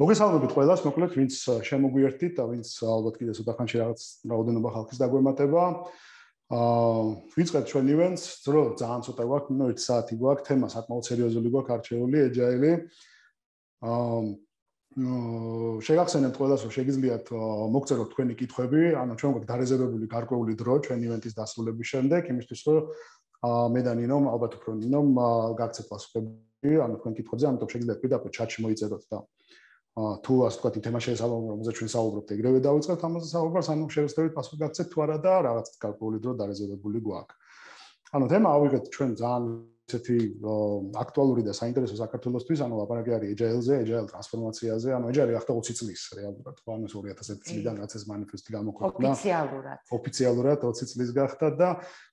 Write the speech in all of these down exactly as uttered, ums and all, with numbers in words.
მოგესალმებით ყველას, მოკლედ ვინც შემოგვიერთდით და ვინც ალბათ კიდე ცოტა ხანში რაღაც რაოდენობა ხალხის დაგვემატება. აა ვიწყებთ ჩვენ ივენტს, დრო ძალიან ცოტა გვაქვს, ნუ ერთი საათი გვაქვს, თემა საკმაოდ სერიოზული გვაქვს, არჩეული, ეჯაილი. აა შეგახსენებთ ყველას, რომ შეგიძლიათ მოგწეროთ თქვენი კითხვები, ანუ ჩვენ გვაქვს დარეზერვებული გარკვეული დრო ჩვენ ივენტის დასრულების შემდეგ, იმისთვის რომ მე და ნინომ, ალბათ უფრო ნინომ გაგცეთ პასუხები, ანუ თქვენ კითხვებზე, ამიტომ შეგიძლიათ პირდაპირ ჩატში მოიწეროთ და თუ ასე ვთქვათ, იმ თემას შესაძლოა, რომელზეც ჩვენ საუბრობთ, ეგრევე დავიწყებთ ამაზე საუბარს, ანუ შევეცდებით პასუხი გაგცეთ თუ არა და რაღაც გარკვეული დრო დარეზერვებული გვაქვს. ანუ თემა ავიღეთ ჩვენ ძალიან ესეთი აქტუალური და საინტერესო საქართველოსთვის, ანუ ლაპარაკი არის ეჯაილზე, ეჯაილ ტრანსფორმაციაზე, ანუ ეჯაილი ახლა ოცი წლის რეალურად, ხო, ანუ ორი ათას ერთი წლიდან რაც ეს მანიფესტი გამოქვეყნდა. ოფიციალურად. ოფიციალურად ოცი წლის გახდა და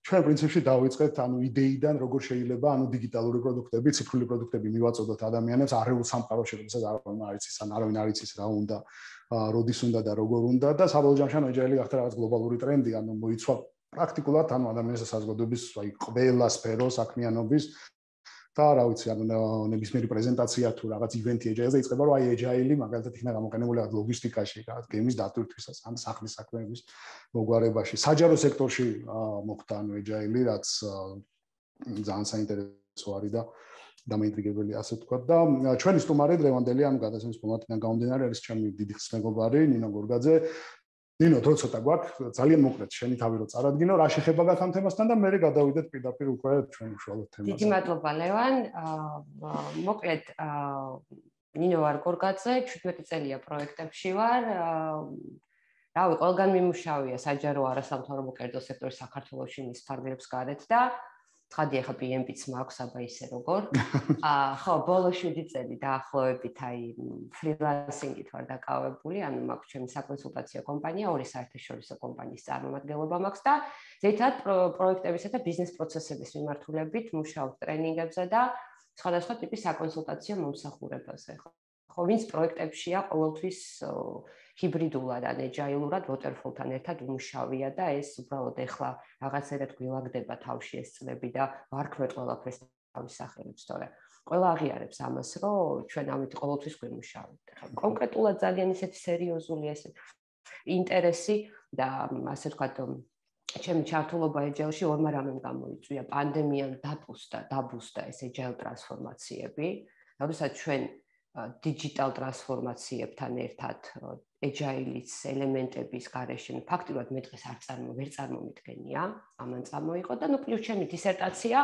ჩვენ პრინციპში დავიწყეთ ანუ იდეიდან, როგორ შეიძლება ანუ დიგიტალური პროდუქტები, ციფრული პროდუქტები მივაწოდოთ ადამიანებს არეულ სამყაროში, როდესაც არავინ არ იცის, ან არავინ არ იცის რა უნდა, როდის უნდა და როგორ უნდა და საბოლოო ჯამში ანუ ეჯაილი გახდა რაღაც გლობალური ტრენდი, ანუ მოიცვა პრაქტიკულად ანუ ადამიანის საზოგადოების აი ყველა სფერო საქმიანობის და რა ვიცი ანუ ნებისმიერი პრეზენტაცია თუ რაღაც ივენთი ეჯაილზე იწყება რომ აი ეჯაილი მაგალითად იქნება გამოყენებული რაღაც ლოგისტიკაში, რაღაც გემის დატვირთვისას, ან სახლის საქმეების მოგვარებაში, საჯარო სექტორში მოხდა ანუ ეჯაილი, რაც ძალიან საინტერესო არის და დამაინტრიგებელი ასე ვთქვათ და ჩვენი სტუმარი დღევანდელი ანუ გადაცემის ფორმატიდან გამომდინარე არის ჩემი დიდი ხნის მეგობარი ნინო გორგაძე. ნინო, დრო ცოტა გვაქვს, ძალიან მოკლედ შენი თავი რო წარადგინო, რა შეხება გაქვს ამ თემასთან და მე გადავიდეთ პირდაპირ უკვე ჩვენ უშუალოდ თემაზე. დიდი მადლობა ლევან. მოკლედ ნინო ვარ გორგაძე, შვიდმეტი წელია პროექტებში ვარ. რავი, ყველგან მიმუშავია საჯარო არასამთავრობო კერძო სექტორი საქართველოში მის ფარგლებს გარეთ და ცხადია ხა პი ემ პიც მაქვს აბა ისე როგორ. აა ხო, ბოლო შვიდი წელი დაახლოებით აი ფრილანსინგით ვარ დაკავებული, ანუ მაქვს ჩემი საკონსულტაციო კომპანია, ორი საერთაშორისო კომპანიის წარმომადგენლობა მაქვს და ზედმეტად პროექტებისა და ბიზნეს პროცესების მიმართულებით მუშაობ ტრენინგებზე და სხვადასხვა ტიპის საკონსულტაციო მომსახურებაზე. ხო, ვინც პროექტებშია ყოველთვის ჰიბრიდულად ან ეჯაილურად waterfall-თან ერთად უმუშავია და ეს უბრალოდ ეხლა რაღაცერად გვილაგდება თავში ეს წლები და ვარქმევთ ყველაფერს თავის სახელებს, თორე ყველა აღიარებს ამას, რომ ჩვენ ამით ყოველთვის გვიმუშავებთ. ხა კონკრეტულად ძალიან ისეთი სერიოზული ეს ინტერესი და ასე ვთქვათ, ჩემი ჩართულობა ეჯაილში ორმა რამემ გამოიწვია. პანდემიამ დაპუსტა, დაბუსტა ეს ეჯაილ ტრანსფორმაციები, როდესაც ჩვენ digital ტრანსფორმაციებთან ერთად ეჯაილის ელემენტების გარეშე ფაქტურად მე დღეს არ წარმო ვერ წარმომიდგენია, ამან წამოიყო და ნუ პლუს ჩემი დისერტაცია,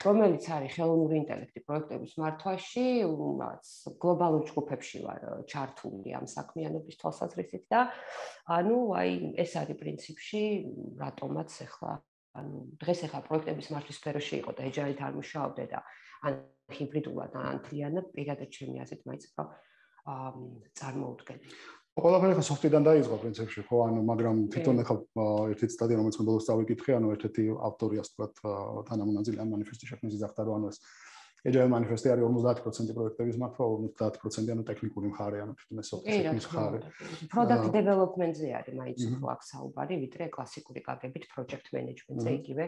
რომელიც არის ხელოვნური ინტელექტი პროექტების მართვაში, რაც გლობალურ ჯგუფებში ვარ ჩართული ამ საქმიანობის თვალსაზრისით და ანუ აი ეს არის პრინციპში რატომაც ახლა ანუ დღეს ახლა პროექტების მართვის სფეროში იყო და ეჯაილით არ მუშაობდე და ან ჰიბრიდულად ან მთლიანად პირადად ჩემი აზრით მაინც უფრო წარმოუდგენელი. ყველაფერი ხა სოფტიდან დაიწყო პრინციპში, ხო, ანუ მაგრამ თვითონ ახლა ერთი ციტატი რომელიც მე ბოლოს დავიკითხე, ანუ ერთ-ერთი ავტორი ასე ვთქვათ თანამონაწილე ამ მანიფესტის შექმნის ძახდა, რომ ანუ ეს ეჯაილ მანიფესტი არის ორმოცდაათი პროცენტი პროექტების მართვა, ორმოცდაათი პროცენტი ანუ ტექნიკური მხარე, ანუ თვითონ ეს სოფტის მხარე. Product development-ზე არის მაინც უფრო აქ საუბარი, ვიდრე კლასიკური კაგებით project management-ზე იგივე,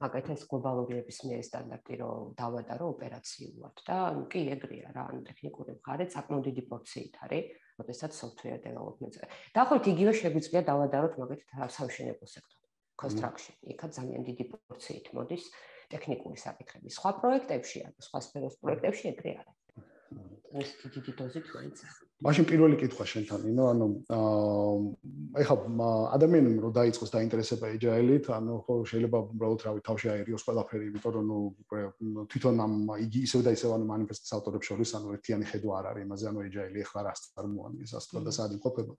მაგალითად ეს გლობალური ნებისმიერი სტანდარტი რომ დავადარო ოპერაციულად და კი ეგრეა რა, ანუ ტექნიკური მხარე საკმაოდ დიდი პორციით არის, როდესაც software development-ზე. დაახლოებით იგივე შეგვიძლია დავადაროთ მაგალითად სამშენებლო სექტორი, construction, იქაც ძალიან დიდი პორციით მოდის ტექნიკური საკითხები. სხვა პროექტებში, ანუ სხვა სფეროს პროექტებში ეგრე არის. ეს დიდი დოზით მაინც არის. მაშინ პირველი კითხვა შენთან, ნინო, ანუ ეხლა ადამიანმა რომ დაიწყოს დაინტერესება ეჯაილით, ანუ ხო შეიძლება უბრალოდ რავი თავში აერიოს ყველაფერი, იმიტომ რომ ნუ თვითონ ამ იგი ისევ და ისევ ანუ მანიფესტის ავტორებს შორის ანუ ერთიანი ხედვა არ არის იმაზე, ანუ ეჯაილი ეხლა რას წარმოადგენს, ასე ვთქვათ და სად იმყოფება.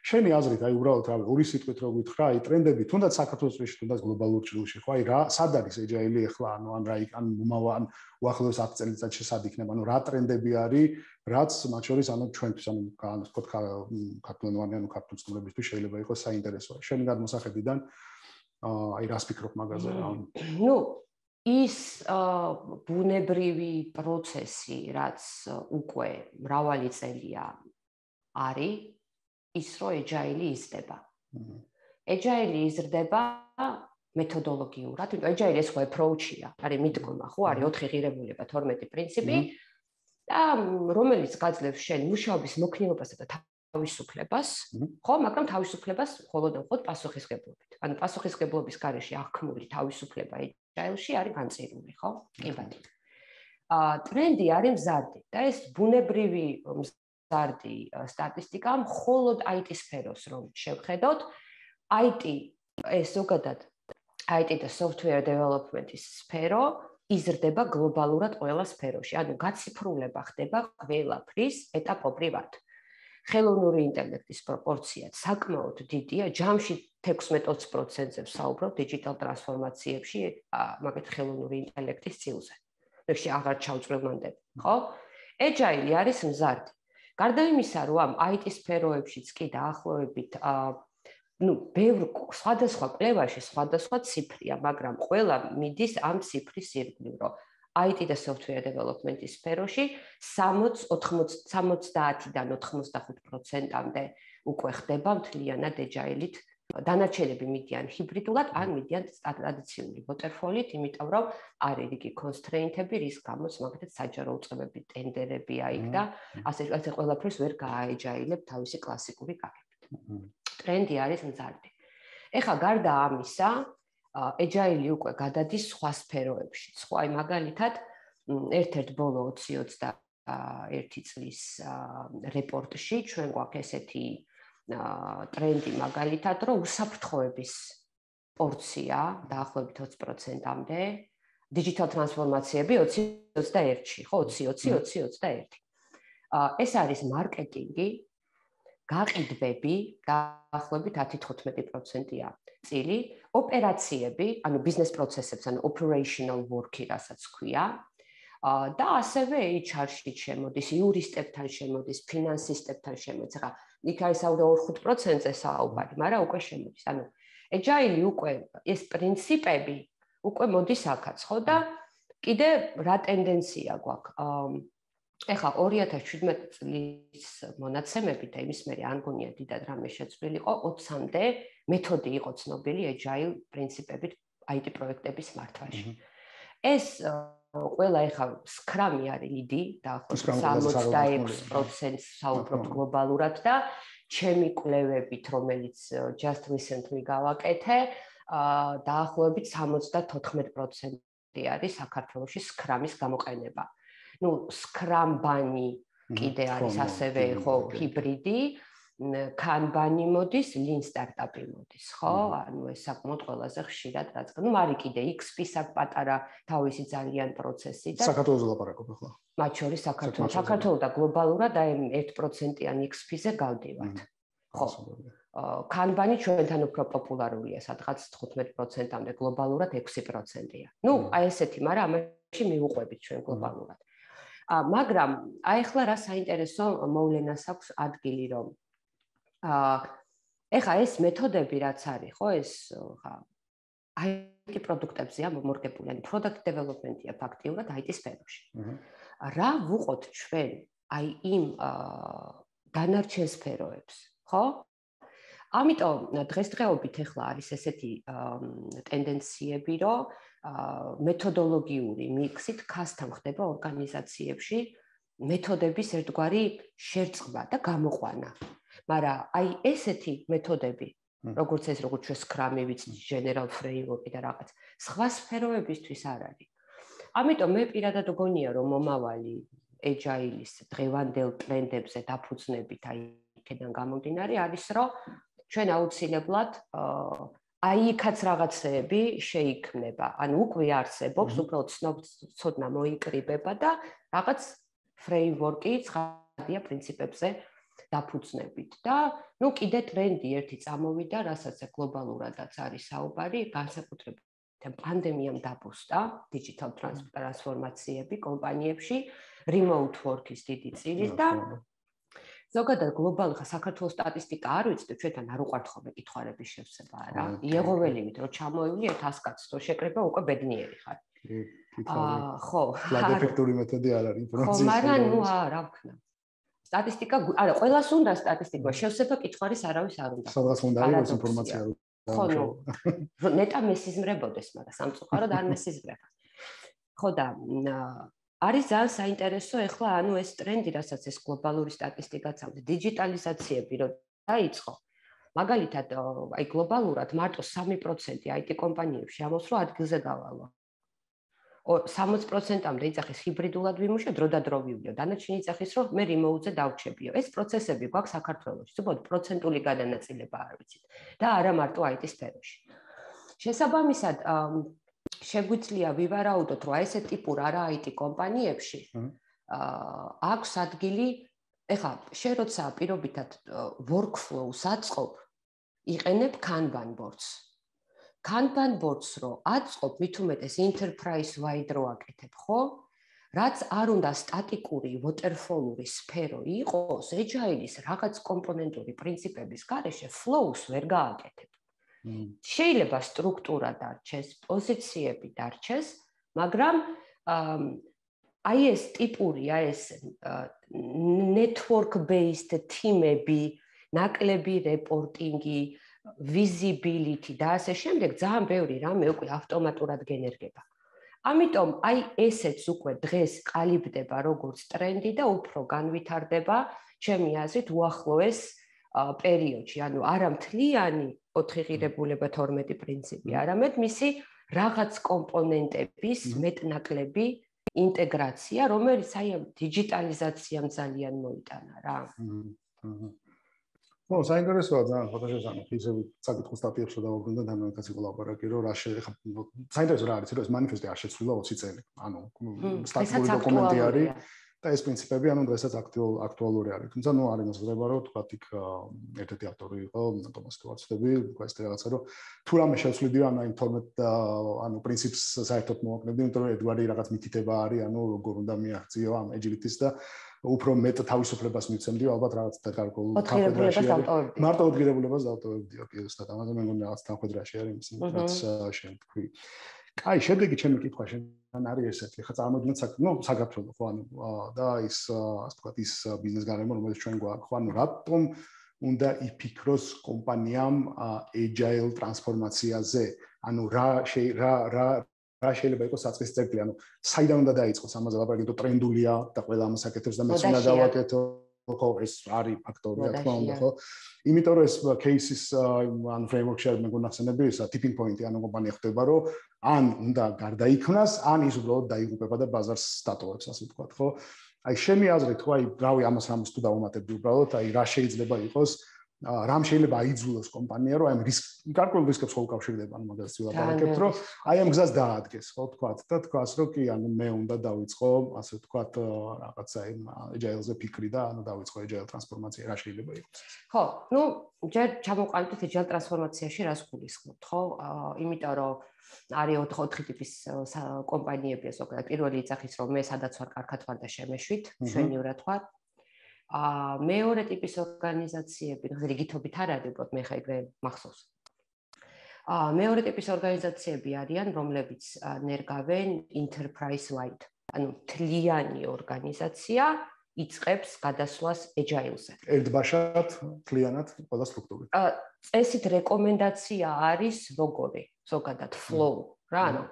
შენი აზრით, აი უბრალოდ რავი, ორი სიტყვით რო გითხრა, აი ტრენდები, თუნდაც საქართველოს წრეში, თუნდაც გლობალურ ჭრილში, ხო, აი რა, სად არის ეჯაილი ეხლა, ანუ ან რა ან მომავალ უახლოეს ათი წელიწადში სად იქნება, ანუ რა ტრენდები არის, რაც მათ შორის ანუ ჩვენთვის ანუ ასე ვთქვათ ქართულენოვანი ანუ ქართულ სტუმრებისთვის შეიძლება იყოს საინტერესო. შენი გადმოსახედიდან აი რას ფიქრობ მაგაზე რა? ნუ ის ბუნებრივი პროცესი, რაც უკვე მრავალი წელია არის, ის რომ ეჯაილი იზრდება. ეჯაილი იზრდება მეთოდოლოგიურად, იმიტომ ეჯაილი ეს ხო approach-ია, არის მიდგომა, ხო, არის ოთხი ღირებულება, თორმეტი პრინციპი. და რომელიც გაძლევს შენ მუშაობის მოქნილობასა და თავისუფლებას, ხო, მაგრამ თავისუფლებას მხოლოდ და მხოლოდ პასუხისმგებლობით. ანუ პასუხისმგებლობის გარეშე აღქმული თავისუფლება agile-ში არის განწირული, ხო? კი ბატონო. აა ტრენდი არის მზარდი და ეს ბუნებრივი მზარდი სტატისტიკა მხოლოდ I T სფეროს რომ შევხედოთ, I T ეს ზოგადად I T და software development-ის სფერო იზრდება გლობალურად ყველა სფეროში. ანუ გაციფრულება ხდება ყველაფრის ეტაპობრივად. ხელოვნური ინტელექტის პროპორციაც საკმაოდ დიდია, ჯამში თექვსმეტ ოცი პროცენტზე ვსაუბრობ დიჯიტალ ტრანსფორმაციებში, მაგათ ხელოვნური ინტელექტის წილზე. ეგში აღარ ჩავწვევმანდები, ხო? Agile არის მზარდი. გარდა იმისა, რომ ამ I T სფეროებშიც კი დაახლოებით ну, ბევრ სხვადასხვა კვლევაში სხვადასხვა ციფრია, მაგრამ ყველა მიდის ამ ციფრის ირგვლივ, რომ I T და software development-ის სფეროში სამოცდაათიდან ოთხმოცდახუთ პროცენტამდე უკვე ხდება მთლიანად agile-ით. დანარჩენები მიდიან ჰიბრიდულად, ან მიდიან ტრადიციული waterfall-ით, იმიტომ რომ არის რიგი constraint-ები, რის გამოც მაგათაც საჯარო უწყებები, ტენდერებია იქ და ასე ასე ყველაფერს ვერ გააagile-ებ თავისი კლასიკური გაგებით. ტრენდი არის მზარდი. ეხლა გარდა ამისა, agile უკვე გადადის სხვა სფეროებში. სხვა აი მაგალითად, ერთ-ერთ ბოლო ოცი ოცდაერთი წლის რეპორტში ჩვენ გვაქვს ესეთი ტრენდი მაგალითად, რომ უსაფრთხოების პორცია დაახლოებით ოცი პროცენტამდე, digital ტრანსფორმაციები ოცი ოცდაერთში, ხო, ოცი ოცი ოცი ოცდაერთი. ეს არის მარკეტინგი, გაყიდვები დაახლოებით ათი თხუთმეტი პროცენტია წილი, ოპერაციები, ანუ ბიზნეს პროცესებს, ანუ operational work-ი, რასაც ქვია, და ასევე H R-ში შემოდის, იურისტებთან შემოდის, ფინანსისტებთან შემოდის. ახლა იქ არის საუდაო ხუთ პროცენტზე საუბარი, მაგრამ უკვე შემოდის. ანუ agile უკვე ეს პრინციპები უკვე მოდის აქაც, ხო და კიდე რა ტენდენცია გვაქვს? ეხლა ორი ათას შვიდმეტი წლის მონაცემები და იმის მერე არ მგონია დიდად რამე შეცვლილი იყო, ოცამდე მეთოდი იყო ცნობილი agile პრინციპებით I T პროექტების მართვაში. ეს ყველა ეხლა Scrum-ი არის ლიდი, დაახლოებით სამოცდაექვსი პროცენტს საუბრობთ გლობალურად და ჩემი კვლევებით, რომელიც just recently გავაკეთე, დაახლოებით სამოცდათოთხმეტი პროცენტი არის საქართველოში Scrum-ის გამოყენება. ну Scrum-ბანი კიდე არის ასევე ხო ჰიბრიდი, Kanban-ი მოდის, Lean Startup-ი მოდის, ხო? ანუ ეს საკმაოდ ყველაზე ხშირად რაც. ну მარი კიდე X P საკ პატარა თავისი ძალიან პროცესი და საქართველოს ლაპარაკობ ახლა. მათ შორის საქართველოს, საქართველოს და გლობალურად აი ერთ პროცენტიან X P-ზე გავდივართ. ხო. Kanban-ი ჩვენთან უფრო პოპულარულია, სადღაც თხუთმეტ პროცენტამდე, გლობალურად ექვსი პროცენტია. ну აი ესეთი, მაგრამ ამაში მივუყვებით ჩვენ გლობალურად. მაგრამ აი ახლა რა საინტერესო მოვლენას აქვს ადგილი, რომ აა ეხა ეს მეთოდები რაც არის, ხო, ეს ხა I T პროდუქტებზეა მომორგებული, ანუ product development-ია ფაქტიურად I T სფეროში. რა ვუყოთ ჩვენ აი იმ დანარჩენ სფეროებს, ხო? ამიტომ დღესდღეობით ეხლა არის ესეთი ტენდენციები, რომ მეთოდოლოგიური მიქსით custom ხდება ორგანიზაციებში მეთოდების ერთგვარი შერწყმა და გამოყვანა. მაგრამ აი ესეთი მეთოდები, როგორც ეს, როგორც ჩვენ Scrum-ი ვიცით, general framework-ი და რაღაც, სხვა სფეროებისთვის არ არის. ამიტომ მე პირადად გონია, რომ მომავალი agile-ის დღევანდელ ტრენდებზე დაფუძნებით აი იქიდან გამომდინარე არის, რომ ჩვენ აუცილებლად აი იქაც რაღაცეები შეიქმნება. ანუ უკვე არსებობს, უბრალოდ ცოდნა მოიკრიბება და რაღაც framework-ი ცხადია პრინციპებზე დაფუძნებით. და ნუ კიდე ტრენდი ერთი წამოვიდა, რასაც გლობალურადაც არის საუბარი, განსაკუთრებით პანდემიამ დაბუსტა digital ტრანსფორმაციები კომპანიებში, remote work-ის დიდი წილი და ზოგადად გლობალურ საქართველოს სტატისტიკა არ ვიცი, ჩვენთან არ უყვართ ხოლმე კითხვარების შევსება რა. იეღოველივით რომ ჩამოივლი ერთ ას კაცს რო შეკრება უკვე ბედნიერი ხარ. აა ხო, ფლაგ ეფექტური მეთოდი არ არის ინფორმაციის. ხო, მაგრამ ნუ რა ვქნა. სტატისტიკა, არა, ყველას უნდა სტატისტიკა, შევსება კითხვარის არავის არ უნდა. სადღაც უნდა იყოს ინფორმაცია. ხო, ნუ ნეტა მესიზმრებოდეს, მაგრამ სამწუხაროდ არ მესიზმრება. ხო და არის ძალიან საინტერესო ეხლა ანუ ეს ტრენდი, რასაც ეს გლობალური სტატისტიკაც აქვს, დიჯიტალიზაციები რო დაიწყო. მაგალითად, აი გლობალურად მარტო სამი პროცენტი აი ტი კომპანიებში ამბობს, რომ ადგილზე გავალო. სამოცი პროცენტამდე იძახის ჰიბრიდულად ვიმუშავ, დრო და დრო ვივლევ. დანარჩენი იძახის, რომ მე რიმოუტზე დავჩებიო. ეს პროცესები გვაქვს საქართველოში, უბრალოდ პროცენტული გადანაწილება არ ვიცით და არა მარტო აი ტი სფეროში. შესაბამისად, შეგვიძლია ვივარაუდოთ, რომ ეს ტიპურ არა აი ტი კომპანიებში აქვს ადგილი, ეხლა შენ როცა პირობითად workflow-ს აწყობ, იყენებ Kanban boards. Kanban boards რო აწყობ, მით უმეტეს enterprise wide რო აკეთებ, ხო? რაც არ უნდა სტატიკური waterfall-ური სფერო იყოს, agile-ის რაღაც კომპონენტური პრინციპების გარეშე flows ვერ გააკეთებ. შეიძლება სტრუქტურა დარჩეს, პოზიციები დარჩეს, მაგრამ აი ეს ტიპური, აი ეს network based team-ები, ნაკლები რეპორტინგი, visibility და ასე შემდეგ ძალიან ბევრი რამე უკვე ავტომატურად გენერგება. ამიტომ აი ესეც უკვე დღეს ყალიბდება როგორც ტრენდი და უფრო განვითარდება ჩემი აზრით უახლოეს პერიოდში, ანუ არა მთლიანი ოთხი ღირებულება თორმეტი პრინციპი, არამედ მისი რაღაც კომპონენტების მეტნაკლები ინტეგრაცია, რომელიც აი ამ დიჯიტალიზაციამ ძალიან მოიტანა რა. ო, საინტერესოა ძალიან ფოტოშოპსა ისე საკითხს სტატიებს შევდავობდნენ და თანამედროვე კოლაბორატი რომ რა შეიძლება საინტერესო რა არის, რომ ეს მანიფესტი არ შეცვლილა ოცი წელი. ანუ სტატიკური დოკუმენტი არის და ეს პრინციპები ანუ დღესაც აქტუალური არის. თუმცა ნუ არის მოსაზრება რომ თქვა იქ ერთ-ერთი ავტორი იყო თომას სტუარტსები, ეს რაღაცა რომ თუ რამე შევცვლიდიო ანუ იმ თორმეტ ანუ პრინციპს საერთოდ მოვაკლებდი, იმიტომ რომ ერთგვარი რაღაც მითითება არის, ანუ როგორ უნდა მიაღწიო ამ agility-ს და უფრო მეტ თავისუფლებას მივცემდიო, ალბათ რაღაც გარკვეულ თანხმედრაში მარტო ოთხგირებულებას დავტოვებდიო, კი ზუსტად ამაზე მე მგონი რაღაც თანხმედრაში არის იმის, რაც შენ თქვი. კაი, შემდეგი ჩემი კითხვა შენ არის ესეთი, ხა წარმოვიდგინეთ, ნუ საქართველოს ხო, ანუ და ის ასე ვთქვათ, ის ბიზნეს გარემო, რომელიც ჩვენ გვაქვს, ხო, ანუ რატომ უნდა იფიქროს კომპანიამ agile ტრანსფორმაციაზე? ანუ რა რა რა რა შეიძლება იყოს საწყის წერტილი, ანუ საიდან უნდა დაიწყოს ამაზე ლაპარაკი, თუ ტრენდულია და ყველა ამას აკეთებს და მეც უნდა დავაკეთო, ხო, ეს არის ფაქტორი, რა თქმა უნდა, ხო? იმიტომ რომ ეს cases ან framework-ში არ მეგონა ხსენები ისა tipping point-ი, ანუ კომპანია ხდება, რომ ან უნდა გარდაიქმნას, ან ის უბრალოდ დაიღუპება და ბაზარს სტატოვებს, ასე ვთქვათ, ხო? აი შემი აზრით, ხო, აი რავი ამას რამის თუ დავუმატებდი უბრალოდ, აი რა შეიძლება იყოს რამ შეიძლება აიძულოს კომპანია, რომ აი ამ რისკ გარკვეულ რისკებს ხო უკავშირდება, ანუ მაგას ვილაპარაკებთ, რომ აი ამ გზას დაადგეს, ხო, თქვათ და თქვას, რომ კი, ანუ მე უნდა დავიწყო, ასე ვთქვათ, რაღაცა იმ agile-ზე ფიქრი და ანუ დავიწყო agile ტრანსფორმაცია, რა შეიძლება იყოს? ხო, ну, ჯერ ჩამოყალიბდით agile ტრანსფორმაციაში რას გულისხმობთ, ხო? იმიტომ რომ არის ოთხი ტიპის კომპანიები, ზოგადად პირველი იძახის, რომ მე სადაც ვარ, კარგად ვარ და შემეშვით, მშვენივრად ვარ. ა მეორე ტიპის ორგანიზაციები, ну, რიგითობით არ არის, უბრალოდ მე ხა ეგრე მახსოვს. ა მეორე ტიპის ორგანიზაციები არიან, რომლებიც ნერგავენ enterprise wide, ანუ მთლიანი ორგანიზაცია იწყებს გადასვლას agile-ზე. ერთბაშად, მთლიანად, ყველა სტრუქტურით. ა წესით რეკომენდაცია არის როგორი, ზოგადად flow, რა, ანუ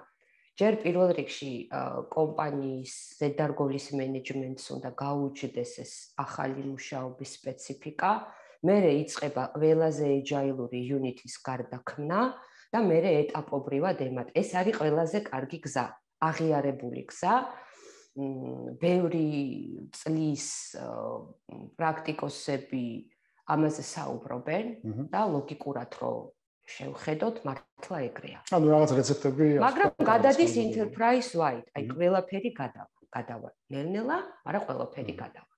ჯერ პირველ რიგში კომპანიის ზედარგოლის მენეჯმენტს უნდა გაუჩნდეს ეს ახალი მუშაობის სპეციფიკა, მერე იწყება ყველაზე agile-ური unit-ის გარდაქმნა და მერე ეტაპობრივად ემატ. ეს არის ყველაზე კარგი გზა, აღიარებული გზა. ბევრი წლის პრაქტიკოსები ამაზე საუბრობენ და ლოგიკურად რომ შევხედოთ, მართლა ეგრეა. ანუ რაღაც რეცეპტები მაგრამ გადადის enterprise wide, აი ყველაფერი გადავა, გადავა. ნელ-ნელა, მაგრამ ყველაფერი გადავა.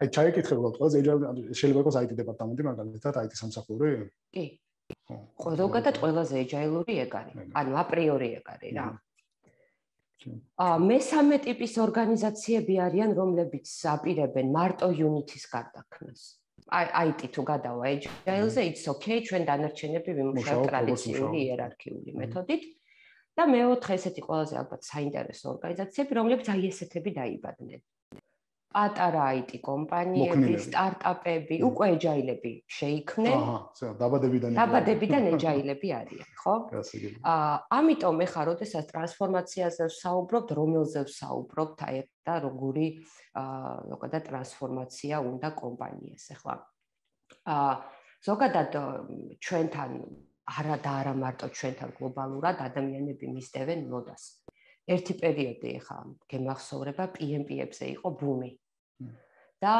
აი ჩაიკითხე უბრალოდ, ყველაზე agile შეიძლება იყოს აი ტი დეპარტამენტი, მაგალითად აი ტი სამსახური? კი. ზოგადად ყველაზე agile-ური ეგ არის. ანუ აპრიორი ეგ არის რა. ა მესამე ტიპის ორგანიზაციები არიან, რომლებიც აპირებენ მარტო unit-ის გარდაქმნას. აი ტი თუ გადავა agile-ზე, it's okay, ჩვენ დანარჩენები ვიმუშავებთ ტრადიციული იერარქიული მეთოდით. და მეოთხე ესეთი ყველაზე ალბათ საინტერესო ორგანიზაციები, რომლებიც აი ესეთები დაიბადნენ. პატარა აი ტი კომპანიები, სტარტაპები, უკვე ეჯაილები შეიქმნენ. აჰა, დაბადებიდან დაბადებიდან ეჯაილები არიან, ხო? აა, ამიტომ ეხლა როდესაც ტრანსფორმაციაზე ვსაუბრობთ, რომელზე ვსაუბრობთ, აი და როგორი აა, ზოგადად ტრანსფორმაცია უნდა კომპანიას, ეხლა. აა, ზოგადად ჩვენთან არა და არა მარტო ჩვენთან გლობალურად ადამიანები მისდევენ მოდას. ერთი პერიოდი ეხლა გემახსოვრება პი ემ პი-ებზე იყო ბუმი. და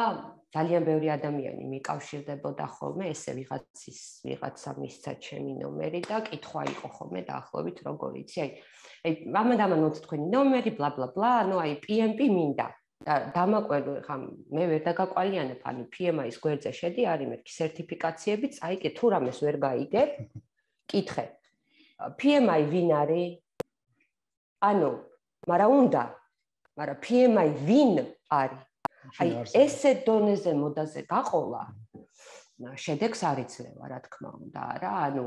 ძალიან ბევრი ადამიანი მიკავშირდებოდა ხოლმე, ესე ვიღაცის ვიღაცა მისცა ჩემი ნომერი და კითხვა იყო ხოლმე დაახლოებით როგორ იცი, აი აი ამან ამან მოდი თქვენი ნომერი, ბლა ბლა ბლა, ანუ აი პი ემ პი მინდა. და დამაკვირვე ხა მე ვერ დაგაყვალიანებ, ანუ პი ემ აის გვერდზე შედი, არის მეთქი სერტიფიკაციები, წაიგე თუ რამეს ვერ გაიგებ, კითხე. პი ემ აი ვინ არის? ანუ, მაგრამ უნდა, მაგრამ პი ემ აი ვინ არის? აი ესე დონეზე მოდაზე გაყოლა, შედეგს არ იძლევა, რა თქმა უნდა, რა, ანუ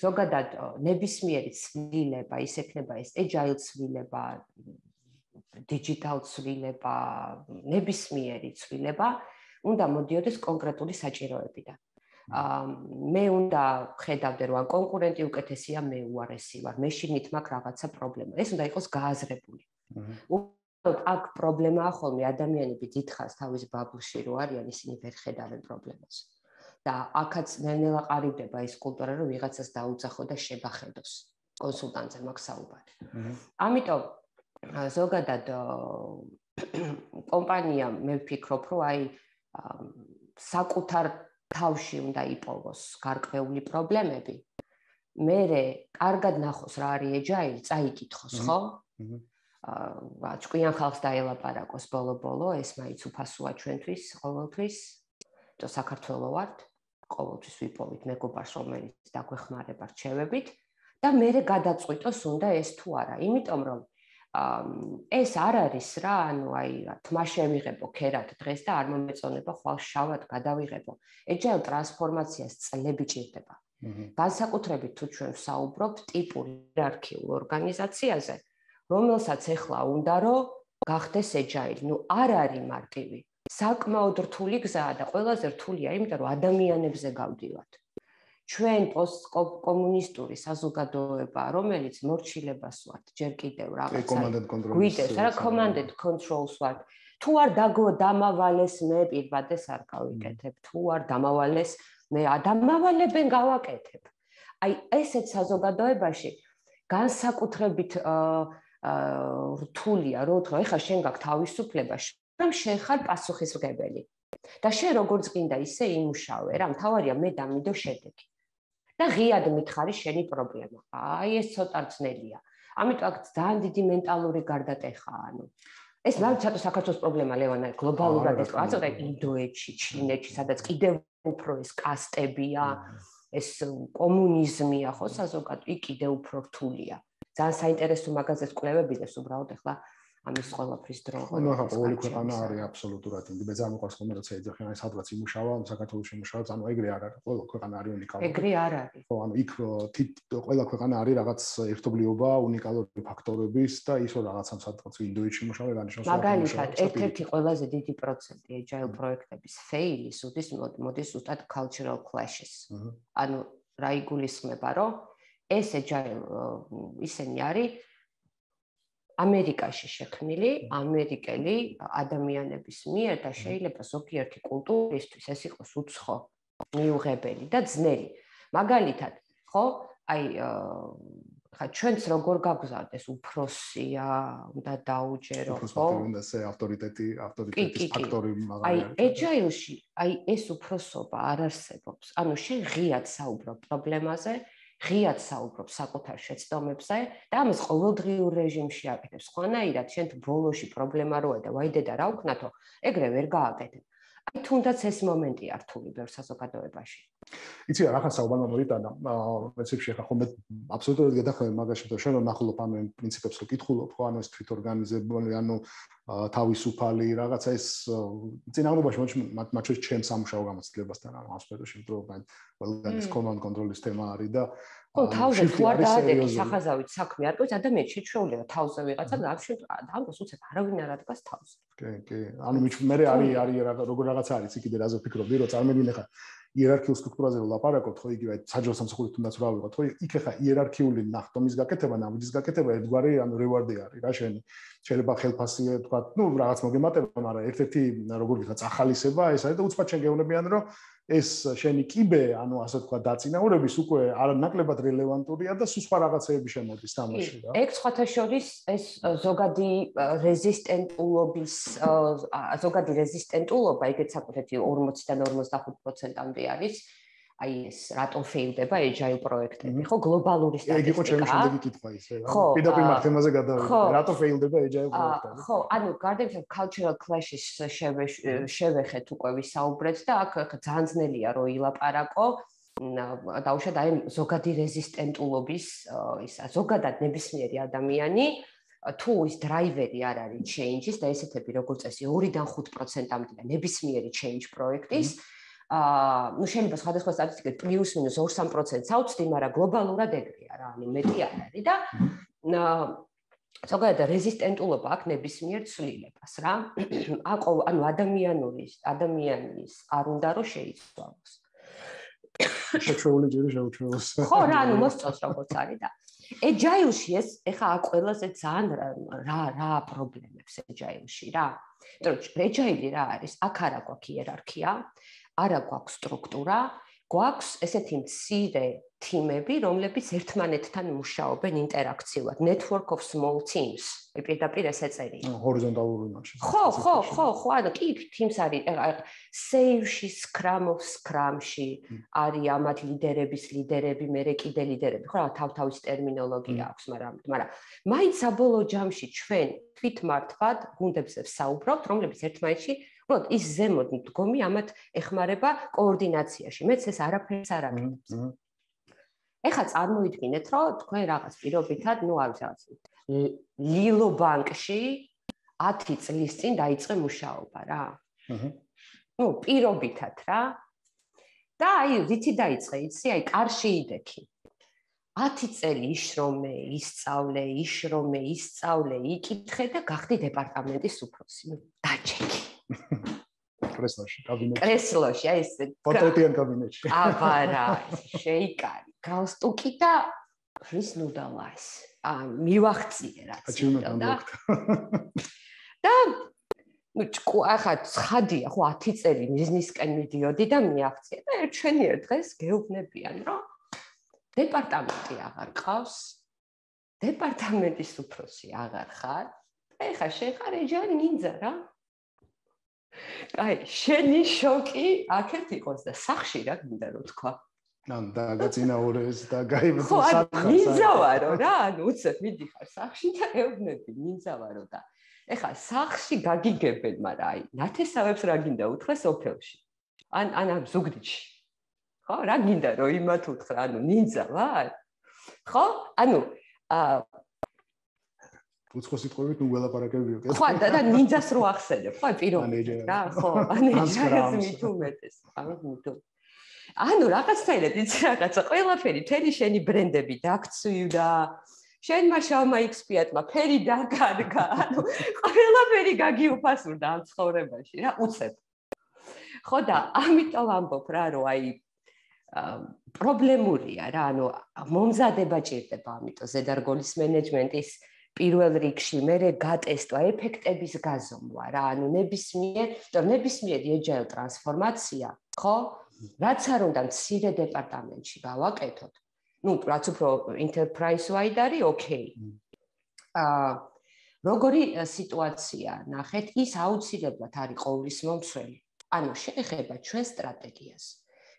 ზოგადად ნებისმიერი ცვლილება, ის ექნება ეს agile ცვლილება, digital ცვლილება, ნებისმიერი ცვლილება, უნდა მოდიოდეს კონკრეტული საჭიროებიდან. მე უნდა ხედავდე, რომ კონკურენტი უკეთესია, მე უარესი ვარ, მე შინით მაქვს რაღაცა პრობლემა. ეს უნდა იყოს გააზრებული. აქ პრობლემაა ხოლმე ადამიანები დიდხანს თავის ბაბლში რო არიან, ისინი ვერ ხედავენ პრობლემას. და აქაც ნელ-ნელა ყარიბდება ის კულტურა, რომ ვიღაცას დაუძახო და შეგახედოს. კონსულტანტზე მაქვს საუბარი. ამიტომ ზოგადად კომპანია მე ვფიქრობ, რომ აი საკუთარ თავში უნდა იპოვოს გარკვეული პრობლემები. მერე კარგად ნახოს რა არის agile, წაიკითხოს, ხო? აა ჭკვიან ხალხს დაელაპარაკოს ბოლო-ბოლო, ეს მაინც უფასოა ჩვენთვის, ყოველთვის. და საქართველო ვართ, ყოველთვის ვიპოვით მეგობარს, რომელიც დაგვეხმარება რჩევებით და მერე გადაწყვიტოს უნდა ეს თუ არა, იმიტომ რომ ეს არ არის რა, ანუ აი თმა შევიღებო ქერად დღეს და არ მომეწონება ხვალ შავად გადავიღებო. agile ტრანსფორმაციას წლები ჭირდება. განსაკუთრებით თუ ჩვენ ვსაუბრობთ ტიპურ იერარქიულ ორგანიზაციაზე, რომელსაც ეხლა უნდა რომ გახდეს agile, ნუ არ არის მარტივი. საკმაოდ რთული გზაა და ყველაზე რთულია, იმიტომ რომ ადამიანებზე გავდივართ. ჩვენ პოსტკომუნისტური საზოგადოება, რომელიც მორჩილებას ვართ, ჯერ კიდევ რაღაცა გვიდევს, რა command and controls ვართ. თუ არ დამავალეს მე პირბადეს არ გავიკეთებ, თუ არ დამავალეს მე ადამიანებენ გავაკეთებ. აი ესეც საზოგადოებაში განსაკუთრებით რთულია, რო თქო, ეხლა შენ გაქვს თავისუფლება, რომ შენ ხარ პასუხისმგებელი. და შენ როგორც გინდა ისე იმუშავე, რა, მთავარია მე დამიდო შედეგი. და ღიად მითხარი შენი პრობლემა. აი ეს ცოტა ძნელია. ამიტომ აქ ძალიან დიდი მენტალური გარდატეხაა, ანუ ეს მართლა საქართველოს პრობლემა ლევანა გლობალურად ის რაღაცა ინდოეთში, ჩინეთში, სადაც კიდევ უფრო ეს კასტებია, ეს კომუნიზმია, ხო, საზოგადო, იქ კიდევ უფრო რთულია. ძალიან საინტერესო მაგაზეს კვლევებიდეს უბრალოდ ახლა ამის ყველაფრის დრო. ანუ ახლა ყოველი ქვეყანა არის აბსოლუტურად ინდი. მე ძალიან მიყვარს ხოლმე როცა ეძახიან აი სადღაც იმუშავა, საქართველოში იმუშავა, ანუ ეგრე არ არის. ყველა ქვეყანა არის უნიკალური. ეგრე არ არის. ხო, ანუ იქ ყველა ქვეყანა არის რაღაც ერთობლიობა, უნიკალური ფაქტორების და ისო რაღაცამ სადღაც ინდოეთში იმუშავა, განიშნავს. მაგალითად, ერთ-ერთი ყველაზე დიდი პროცენტი agile პროექტების fail-ის უდის მოდის ზუსტად cultural clashes. ანუ რა იგულისხმება, რომ ეს agile ისენი არის ამერიკაში შექმნილი, ამერიკელი ადამიანების მიერ და შეიძლება ზოგიერთი კულტურისთვის ეს იყოს უცხო, მიუღებელი და ძნელი. მაგალითად, ხო, აი ხა ჩვენც როგორ გავგზავნეს უფროსია, უნდა დაუჯერო, ხო? უნდა ეს ავტორიტეტი, ავტორიტეტის ფაქტორი მაგალითად. აი agile-ში, აი ეს უფროსობა არ არსებობს. ანუ შენ ღიად საუბრობ პრობლემაზე, ღიად საუბრობ საკუთარ შეცდომებზე და ამას ყოველდღიურ რეჟიმში აკეთებ. სხვანაირად შენ თუ ბოლოში პრობლემა როა და ვაიდე და რა ვქნათო, ეგრე ვერ გააკეთებ. აი თუნდაც ეს მომენტია რთული ბევრ საზოგადოებაში. იცი რა, ახლა საუბარმა მოვიტანა, პრინციპში ახლა ხომ მე აბსოლუტურად გადახვევი მაგაში, რომ შენ ნახულობ ამ პრინციპებს რო კითხულობ, ხო, ანუ ეს თვითორგანიზებული, ანუ თავისუფალი რაღაცა ეს წინააღმდეგობაში მათ შორის ჩემს სამუშაო გამოცდილებასთან ამ სფეროში, რომ ყველგან ეს command control-ის თემა არის და ხო, თავზე თუ არ დაადექი სახაზავით საქმე არ გქონს, ადამიანს შეჩვეულება თავზე ვიღაცა და ამ ამბობს უცებ არავინ არ ადგას თავზე. კი, კი. ანუ მე არის არის როგორ რაღაცა არის იქ კიდე რაზე ვფიქრობდი, რომ წარმოვიდგინე ხა იერარქიულ სტრუქტურაზე ვლაპარაკობთ, ხო იგივე საჯარო სამსახურით თუნდაც რა ვიღოთ, ხო იქ ხა იერარქიული ნახტომის გაკეთება, ნაბიჯის გაკეთება ერთგვარი ანუ რევარდი არის რა შენი. შეიძლება ხელფასი თქვა, ну, რაღაც მოგემატება, მაგრამ ერთ-ერთი როგორ ვიხა წახალისება ეს არის და უცბად შეგეუნებიან, რომ ეს შენი კიბე, ანუ ასე თქვა, დაწინაურების უკვე არანაკლებად რელევანტურია და სხვა რაღაცეები შემოდის თამაში რა. ეგ სხვათა შორის ეს ზოგადი რეზისტენტულობის ზოგადი რეზისტენტულობა, ეგეც საკუთეთი ორმოციდან ორმოცდახუთ პროცენტამდე არის. აი ეს რატომ ფეილდება agile პროექტები, ხო, გლობალური სტატისტიკა. ეგ იყო ჩემი შემდეგი კითხვა ისე, რა. პირდაპირ მაგ თემაზე გადავიდე. რატომ ფეილდება agile პროექტები? ხო, ანუ გარდამტეხ cultural clashes შევეხეთ უკვე ვისაუბრეთ და აქ ძალიან ძნელია რომ ილაპარაკო. დაუშვათ აი ზოგადი რეზისტენტულობის ისა ზოგადად ნებისმიერი ადამიანი თუ ის დრაივერი არ არის change-ის და ესეთები როგორც წესი ორიდან ხუთ პროცენტამდე და ნებისმიერი change პროექტის აა ну შეიძლება სხვადასხვა სტატისტიკით პლუს მინუს ორ სამ პროცენტს ავწდი, მაგრამ გლობალურად ეგრეა რა, ანუ მეტი არ არის და ზოგადად რეზისტენტულობა აქვს ნებისმიერ ცვლილებას რა. აყო ანუ ადამიანური ადამიანის არ უნდა რომ შეიცვალოს. შეჩეული ჯერი შეუჩველოს. ხო რა, ანუ მოსწონს როგორც არის და agile-ში ეს ეხა აქ ყველაზე ძალიან რა რა პრობლემებს agile-ში რა. იმიტომ რომ agile რა არის? აქ არა გვაქვს იერარქია, არა გვაქვს სტრუქტურა, გვაქვს ესეთი მცირე თიმები, რომლებიც ერთმანეთთან მუშაობენ ინტერაქციულად, network of small teams. პირდაპირ ეს ეწერია. ჰორიზონტალური მასში. ხო, ხო, ხო, ხო, ანუ კი teams არის, save-ში, scrum of scrum-ში არის ამათ ლიდერების ლიდერები, მერე კიდე ლიდერები, ხო, თავ-თავის ტერმინოლოგია აქვს, მაგრამ მაგრამ მაინც საბოლოო ჯამში ჩვენ თვითმართვად გუნდებზე ვსაუბრობთ, რომლებიც ერთმანეთში უბრალოდ ის ზემოთ მდგომი ამათ ეხმარება კოორდინაციაში. მეც ეს არაფერს არ აკეთებს. ეხლა წარმოიდგინეთ, რომ თქვენ რაღაც პირობითად, ну, არის რაღაც ლილო ბანკში ათი წლის წინ დაიწყე მუშაობა რა. აჰა. ну, პირობითად რა. და აი, რითი დაიწყე, იცი, აი, კარში იდექი. ათი წელი იშრომე, ისწავლე, იშრომე, ისწავლე, იკითხე და გახდი დეპარტამენტის უფროსი. ну, დაჩეკი. კრესლოში, კაბინეტში. კრესლოში, აი ეს პორტრეტიან კაბინეტში. აბა რა, შეიკარი. გალსტუკი და ის ნუდალა ეს. აა მივახციე რაც. და ну, ახლა ცხადია, ხო ათი წელი ბიზნესკენ მიდიოდი და მიაღწია და ერთშენიერ დღეს გეუბნებიან, რომ დეპარტამენტი აღარ ყავს. დეპარტამენტის უფროსი აღარ ხარ. ეხლა შეხარ agile ninja რა. აი, შენი შოკი აქეთ იყოს და სახში რა გინდა რომ თქვა. ან და გაწინაურეს და გაიბრძო სათხარს. ნინძავარო რა, ანუ უცებ მიდიხარ სახში და ეუბნები ნინძავარო და ეხლა სახში გაგიგებენ, მაგრამ აი, ნათესავებს რა გინდა უთხრა სოფელში. ან ან ამ ზუგდიდში. ხო, რა გინდა რომ იმათ უთხრა, ანუ ნინძა ვარ? ხო? ანუ აა უცხო სიტყვებით ნუ ველაპარაკებიო. ხო, და ნინძას რო ახსენებ, ხო, პირობითად რა, ხო, ანეჯერს მithumetes, ანუ მithu. ანუ რაღაცაირად იცი რაღაცა, ყველაფერი, თელი შენი ბრენდები დაქცვიდა, შენმა შავმა ექსპიატმა ფერი დაკარგა, ანუ ყველაფერი გაგიუფასურდა ამ ცხოვრებაში რა, უცებ. ხო და ამიტომ ამბობ რა, რომ აი პრობლემურია რა, ანუ მომზადება ჭირდება, ამიტომ ზედარგოლის მენეჯმენტის პირველ რიგში მერე გატესტვა ეფექტების გაზომვა რა, ანუ ნებისმიერ, რომ ნებისმიერი agile ტრანსფორმაცია, ხო? რაც არ უნდა მცირე დეპარტამენტში გავაკეთოთ. ну, რაც უფრო enterprise wide არის, okay. აა როგორი სიტუაცია ნახეთ, ის აუცილებლად არის ყოვლის მომცველი. ანუ შეეხება ჩვენ სტრატეგიას,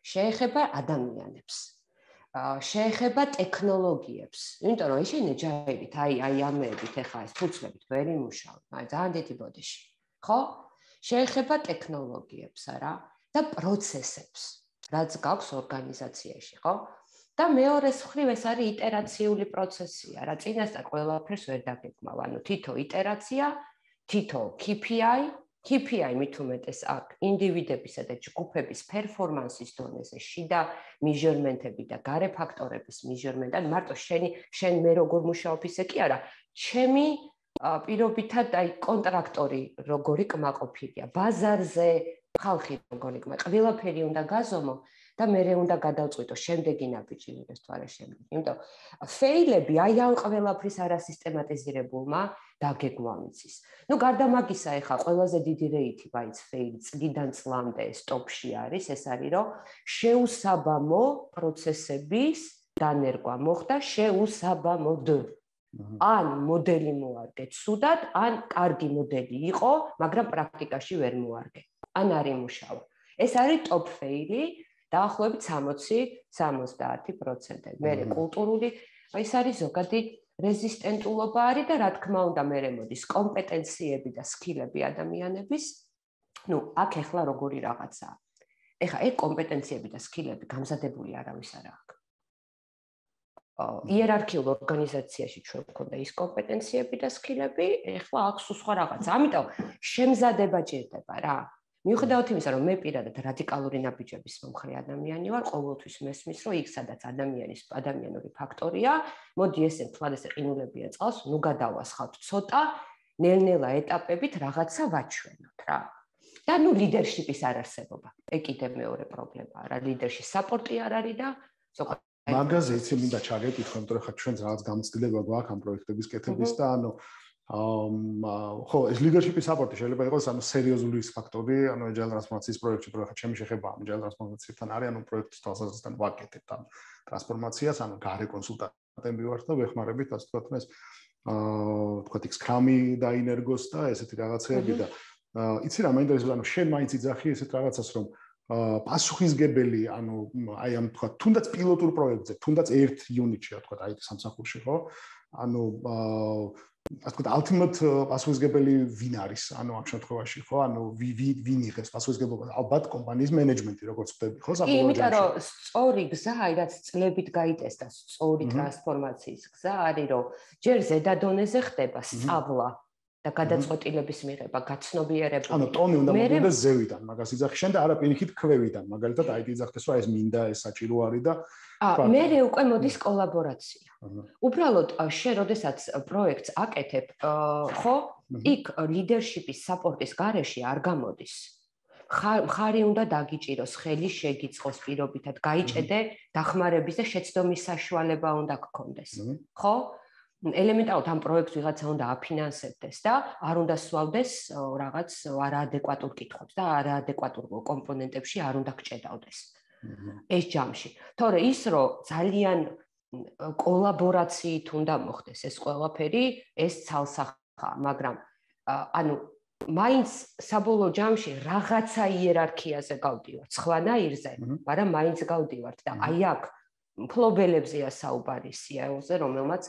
შეეხება ადამიანებს. შეეხება ტექნოლოგიებს. იმიტომ რომ ეს agile-ით, აი აი ამებით ახლა ეს ფუძვლებით ვერ იმუშავებ, აი ძალიან დიდი ბოდიში. ხო? შეეხება ტექნოლოგიებს არა და პროცესებს, რაც გაქვს ორგანიზაციაში, ხო? და მეორეს მხრივ ეს არის იტერაციული პროცესია, რა წინასწარ ყველაფერს ვერ დაგეგმავ, ანუ თითო იტერაცია, თითო K P I, K P I მით უმეტეს აქ ინდივიდებისა და ჯგუფების პერფორმანსის დონეზე შიდა მიჟერმენტები და გარე ფაქტორების მიჟერმენტი, ან მარტო შენი შენ მე როგორ მუშაობ ისე კი არა, ჩემი პირობითად აი კონტრაქტორი როგორი კმაყოფილია, ბაზარზე ხალხი როგორი კმა, ყველაფერი უნდა გაზომო და მერე უნდა გადავწყვიტო შემდეგი ნაბიჯი მიგეს თუ არა შემდეგი. იმიტომ ფეილები აი ამ ყველაფრის არასისტემატიზირებულმა დაგეგმვა მიცის. ნუ გარდა მაგისა ეხა ყველაზე დიდი რეიტი მაინც ფეილი წლიდან წლამდე სტოპში არის, ეს არის რომ შეუსაბამო პროცესების დანერგვა მოხდა შეუსაბამოდ. ან მოდელი მოარგე ცუდად, ან კარგი მოდელი იყო, მაგრამ პრაქტიკაში ვერ მოარგე. ან არ იმუშავა. ეს არის ტოპ ფეილი დაახლოებით სამოცი სამოცდაათი პროცენტი. მერე კულტურული, ეს არის ზოგადი რეზისტენტულობა არის და რა თქმა უნდა მერე მოდის კომპეტენციები და სკილები ადამიანების. ნუ აქ ეხლა როგორი რაღაცაა. ეხა ეგ კომპეტენციები და სკილები გამზადებული არავის არ აქვს. იერარქიულ ორგანიზაციაში ჩვენ გვქონდა ის კომპეტენციები და სკილები, ეხლა აქვს სხვა რაღაცა. ამიტომ შემზადება ჭირდება რა. მიუხედავად იმისა, რომ მე პირადად რადიკალური ნაბიჯების მომხრე ადამიანი ვარ, ყოველთვის მესმის, რომ იქ სადაც ადამიანის ადამიანური ფაქტორია, მოდი ესე თვალ ესე ყინულებია წავს, ნუ გადავასხავთ ცოტა, ნელ-ნელა ეტაპებით რაღაცა ვაჩვენოთ რა. და ნუ ლიდერშიპის არარსებობა. ეგ კიდევ მეორე პრობლემაა რა, ლიდერში საპორტი არ არის და ზოგადად მაგაზე იცი მინდა ჩაგეკითხო, იმიტომ რომ ხა ჩვენც რაღაც გამოცდილება გვაქვს ამ პროექტების კეთების და ანუ აა ხო, ეს ლიდერშიპის საპორტი შეიძლება იყოს ანუ სერიოზული ფაქტორი, ანუ agile ტრანსფორმაციის პროექტში, რომ ხა ჩემი შეხება ამ agile ტრანსფორმაციასთან არის, ანუ პროექტის თვალსაზრისით ვაკეთებთ ამ ტრანსფორმაციას, ანუ გარე კონსულტანტები ვართ და ვეხმარებით, ასე ვთქვათ, ეს აა ვთქვათ, Scrum-ი დაინერგოს და ესეთი რაღაცეები და იცი რა მაინტერესებს, ანუ შენ მაინც იძახი ესეთ რაღაცას, რომ პასუხისგებელი, ანუ აი ამ თქვა, თუნდაც პილოტურ პროექტზე, თუნდაც ერთ იუნიტში, თქვა, აი სამსახურში, ხო? ანუ ასე ვთქვათ, ultimate პასუხისგებელი ვინ არის, ანუ ამ შემთხვევაში, ხო? ანუ ვინ იღებს პასუხისგებლობას? ალბათ კომპანიის მენეჯმენტი, როგორც ხდები, ხო? საბოლოო ჯამში. იმიტომ რომ სწორი გზა, აი რაც წლებით გაიტესტა, სწორი ტრანსფორმაციის გზა არის, რომ ჯერ ზედა დონეზე ხდება სწავლა და გადაწყვეტილების მიღება, გაცნობიერება. ანუ ტონი უნდა მოდიდეს ზევიდან, მაგას იძახი შენ და არა პირიქით ქვევიდან, მაგალითად აი იძახდეს რომ ეს მინდა, ეს საჭირო არის და აა მე უკვე მოდის კოლაბორაცია. უბრალოდ შენ როდესაც პროექტს აკეთებ, ხო, იქ ლიდერშიპის საპორტის გარეშე არ გამოდის. ხარი უნდა დაგიჭიროს, ხელი შეგიწყოს პირობითად, გაიჭედე დახმარების და შეცდომის საშუალება უნდა გქონდეს. ხო? ელემენტარულად ამ პროექტს ვიღაცა უნდა აფინანსებდეს და არ უნდა სვავდეს რაღაც არაადეკვატურ კითხვებს და არაადეკვატურ კომპონენტებში არ უნდა გჭედავდეს. ეს ჯამში. თორე ის რომ ძალიან კოლაბორაციით უნდა მოხდეს ეს ყველაფერი, ეს ცალსახაა, მაგრამ ანუ მაინც საბოლოო ჯამში რაღაცა იერარქიაზე გავდივართ, სხვანაირზე, მაგრამ მაინც გავდივართ და აი აქ მფლობელებზეა საუბარი სიაოზე, რომელმაც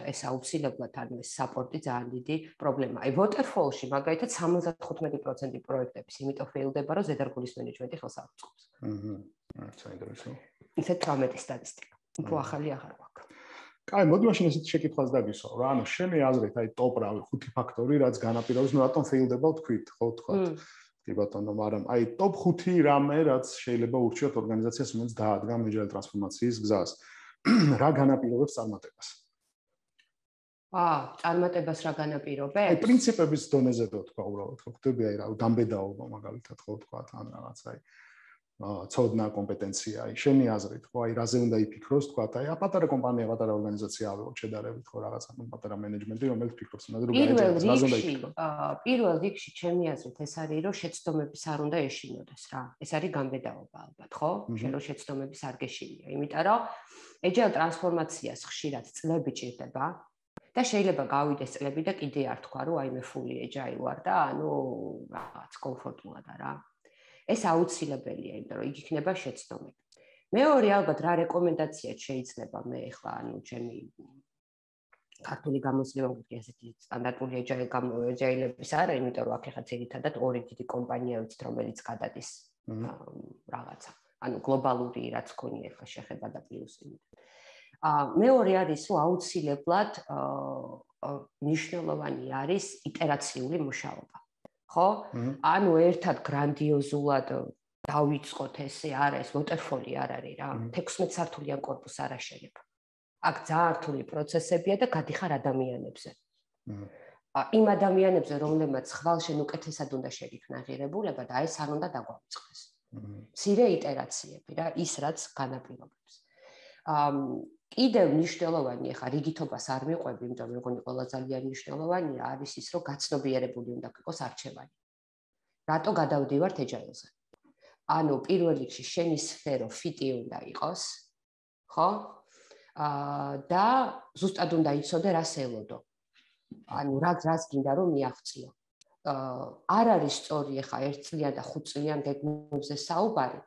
ეს აუცილებლად არის ეს საპორტი ძალიან დიდი პრობლემაა. აი waterfall-ში მაგალითად სამოცდახუთმეტი პროცენტი პროექტების იმიტომ ფეილდება, რომ ზედარგულის მენეჯმენტი ხელს არ უწყობს. აჰა. საინტერესო. ისეთ თვრამეტი სტატისტიკა. უფრო ახალი აღარ გვაქვს. კაი, მოდი მაშინ ესეთ შეკითხვას დაგისვა, რა, ანუ შენი აზრით, აი ტოპ რავი ხუთი ფაქტორი, რაც განაპირობებს, ნუ რატომ ფეილდება ვთქვით, ხო ვთქვათ. კი ბატონო, მაგრამ აი ტოპ ხუთი რამე, რაც შეიძლება ურჩიოთ ორგანიზაციას, რომელიც დაადგა agile ტრანსფორმაციის გზას. რა განაპირობებს წარმატებას? აა, წარმატებას რა განაპირობებს? აი პრინციპების დონეზე და თქვა უბრალოდ, ხო ხდები აი რა, დამბედაობა მაგალითად, ხო ვთქვათ, ან რაღაც აი აა ცოდნა, კომპეტენცია, აი შენი აზრით, ხო, აი რაზე უნდა იფიქროს, თქვათ, აი პატარა კომპანია, პატარა ორგანიზაცია ავიღოთ შედარებით, ხო, რაღაც ანუ პატარა მენეჯმენტი, რომელიც ფიქრობს იმაზე, რომ გაიჭიროს, რაზე უნდა იფიქროს. აა პირველ რიგში ჩემი აზრით ეს არის, რომ შეცდომების არ უნდა ეშინოდეს რა. ეს არის გამბედაობა ალბათ, ხო? შენ რომ შეცდომების არ გეშინია, იმიტომ რომ agile ტრანსფორმაციას ხშირად წლები ჭირდება. და შეიძლება გავიდეს წლები და კიდე არ თქვა რომ აი მე fully agile ვარ და ანუ რაღაც კომფორტულად არა. ეს აუცილებელია, იმიტომ რომ იქ იქნება შეცდომები. მეორე ალბათ რა რეკომენდაციაც შეიძლება მე ახლა ანუ ჩემი ქართული გამოცდილება მგონი ასეთი სტანდარტული agile agile-ების არა, იმიტომ რომ აქ ახლა ძირითადად ორი დიდი კომპანია ვიცით, რომელიც გადადის რაღაცა. ანუ გლობალური რაც ქონია ახლა შეხება და პლუსი. აა მეორე არის რომ აუცილებლად მნიშვნელოვანი არის იტერაციული მუშაობა. ხო? ანუ ერთად გრანდიოზულად დავიწყოთ ესე არა ეს waterfall-ი არ არის რა. თექვსმეტ სართულიან კორპუსს არ აშენებ. აქ ძალიან რთული პროცესებია და გადიხარ ადამიანებზე. იმ ადამიანებზე, რომლებმაც ხვალშენ უკეთესად უნდა შეგიქმნა ღირებულება და ეს არ უნდა დაგვაუწყდეს. მცირე იტერაციები რა, ის რაც განაპირობებს. კიდევ მნიშვნელოვანი ხა რიგითობას არ მიყვები, იმიტომ რომ მეგონი ყველა ძალიან მნიშვნელოვანია არის ის, რომ გაცნობიერებული უნდა იყოს არჩევანი. რატო გადავდივართ agile-ზე? ანუ პირველ რიგში შენი სფერო ფიტი უნდა იყოს, ხო? აა და ზუსტად უნდა იცოდე რას ელოდო. ანუ რა რას გინდა რომ მიაღწიო. აა არ არის სწორი ხა ერთ წლიან და ხუთ წლიან გეგმებზე საუბარი,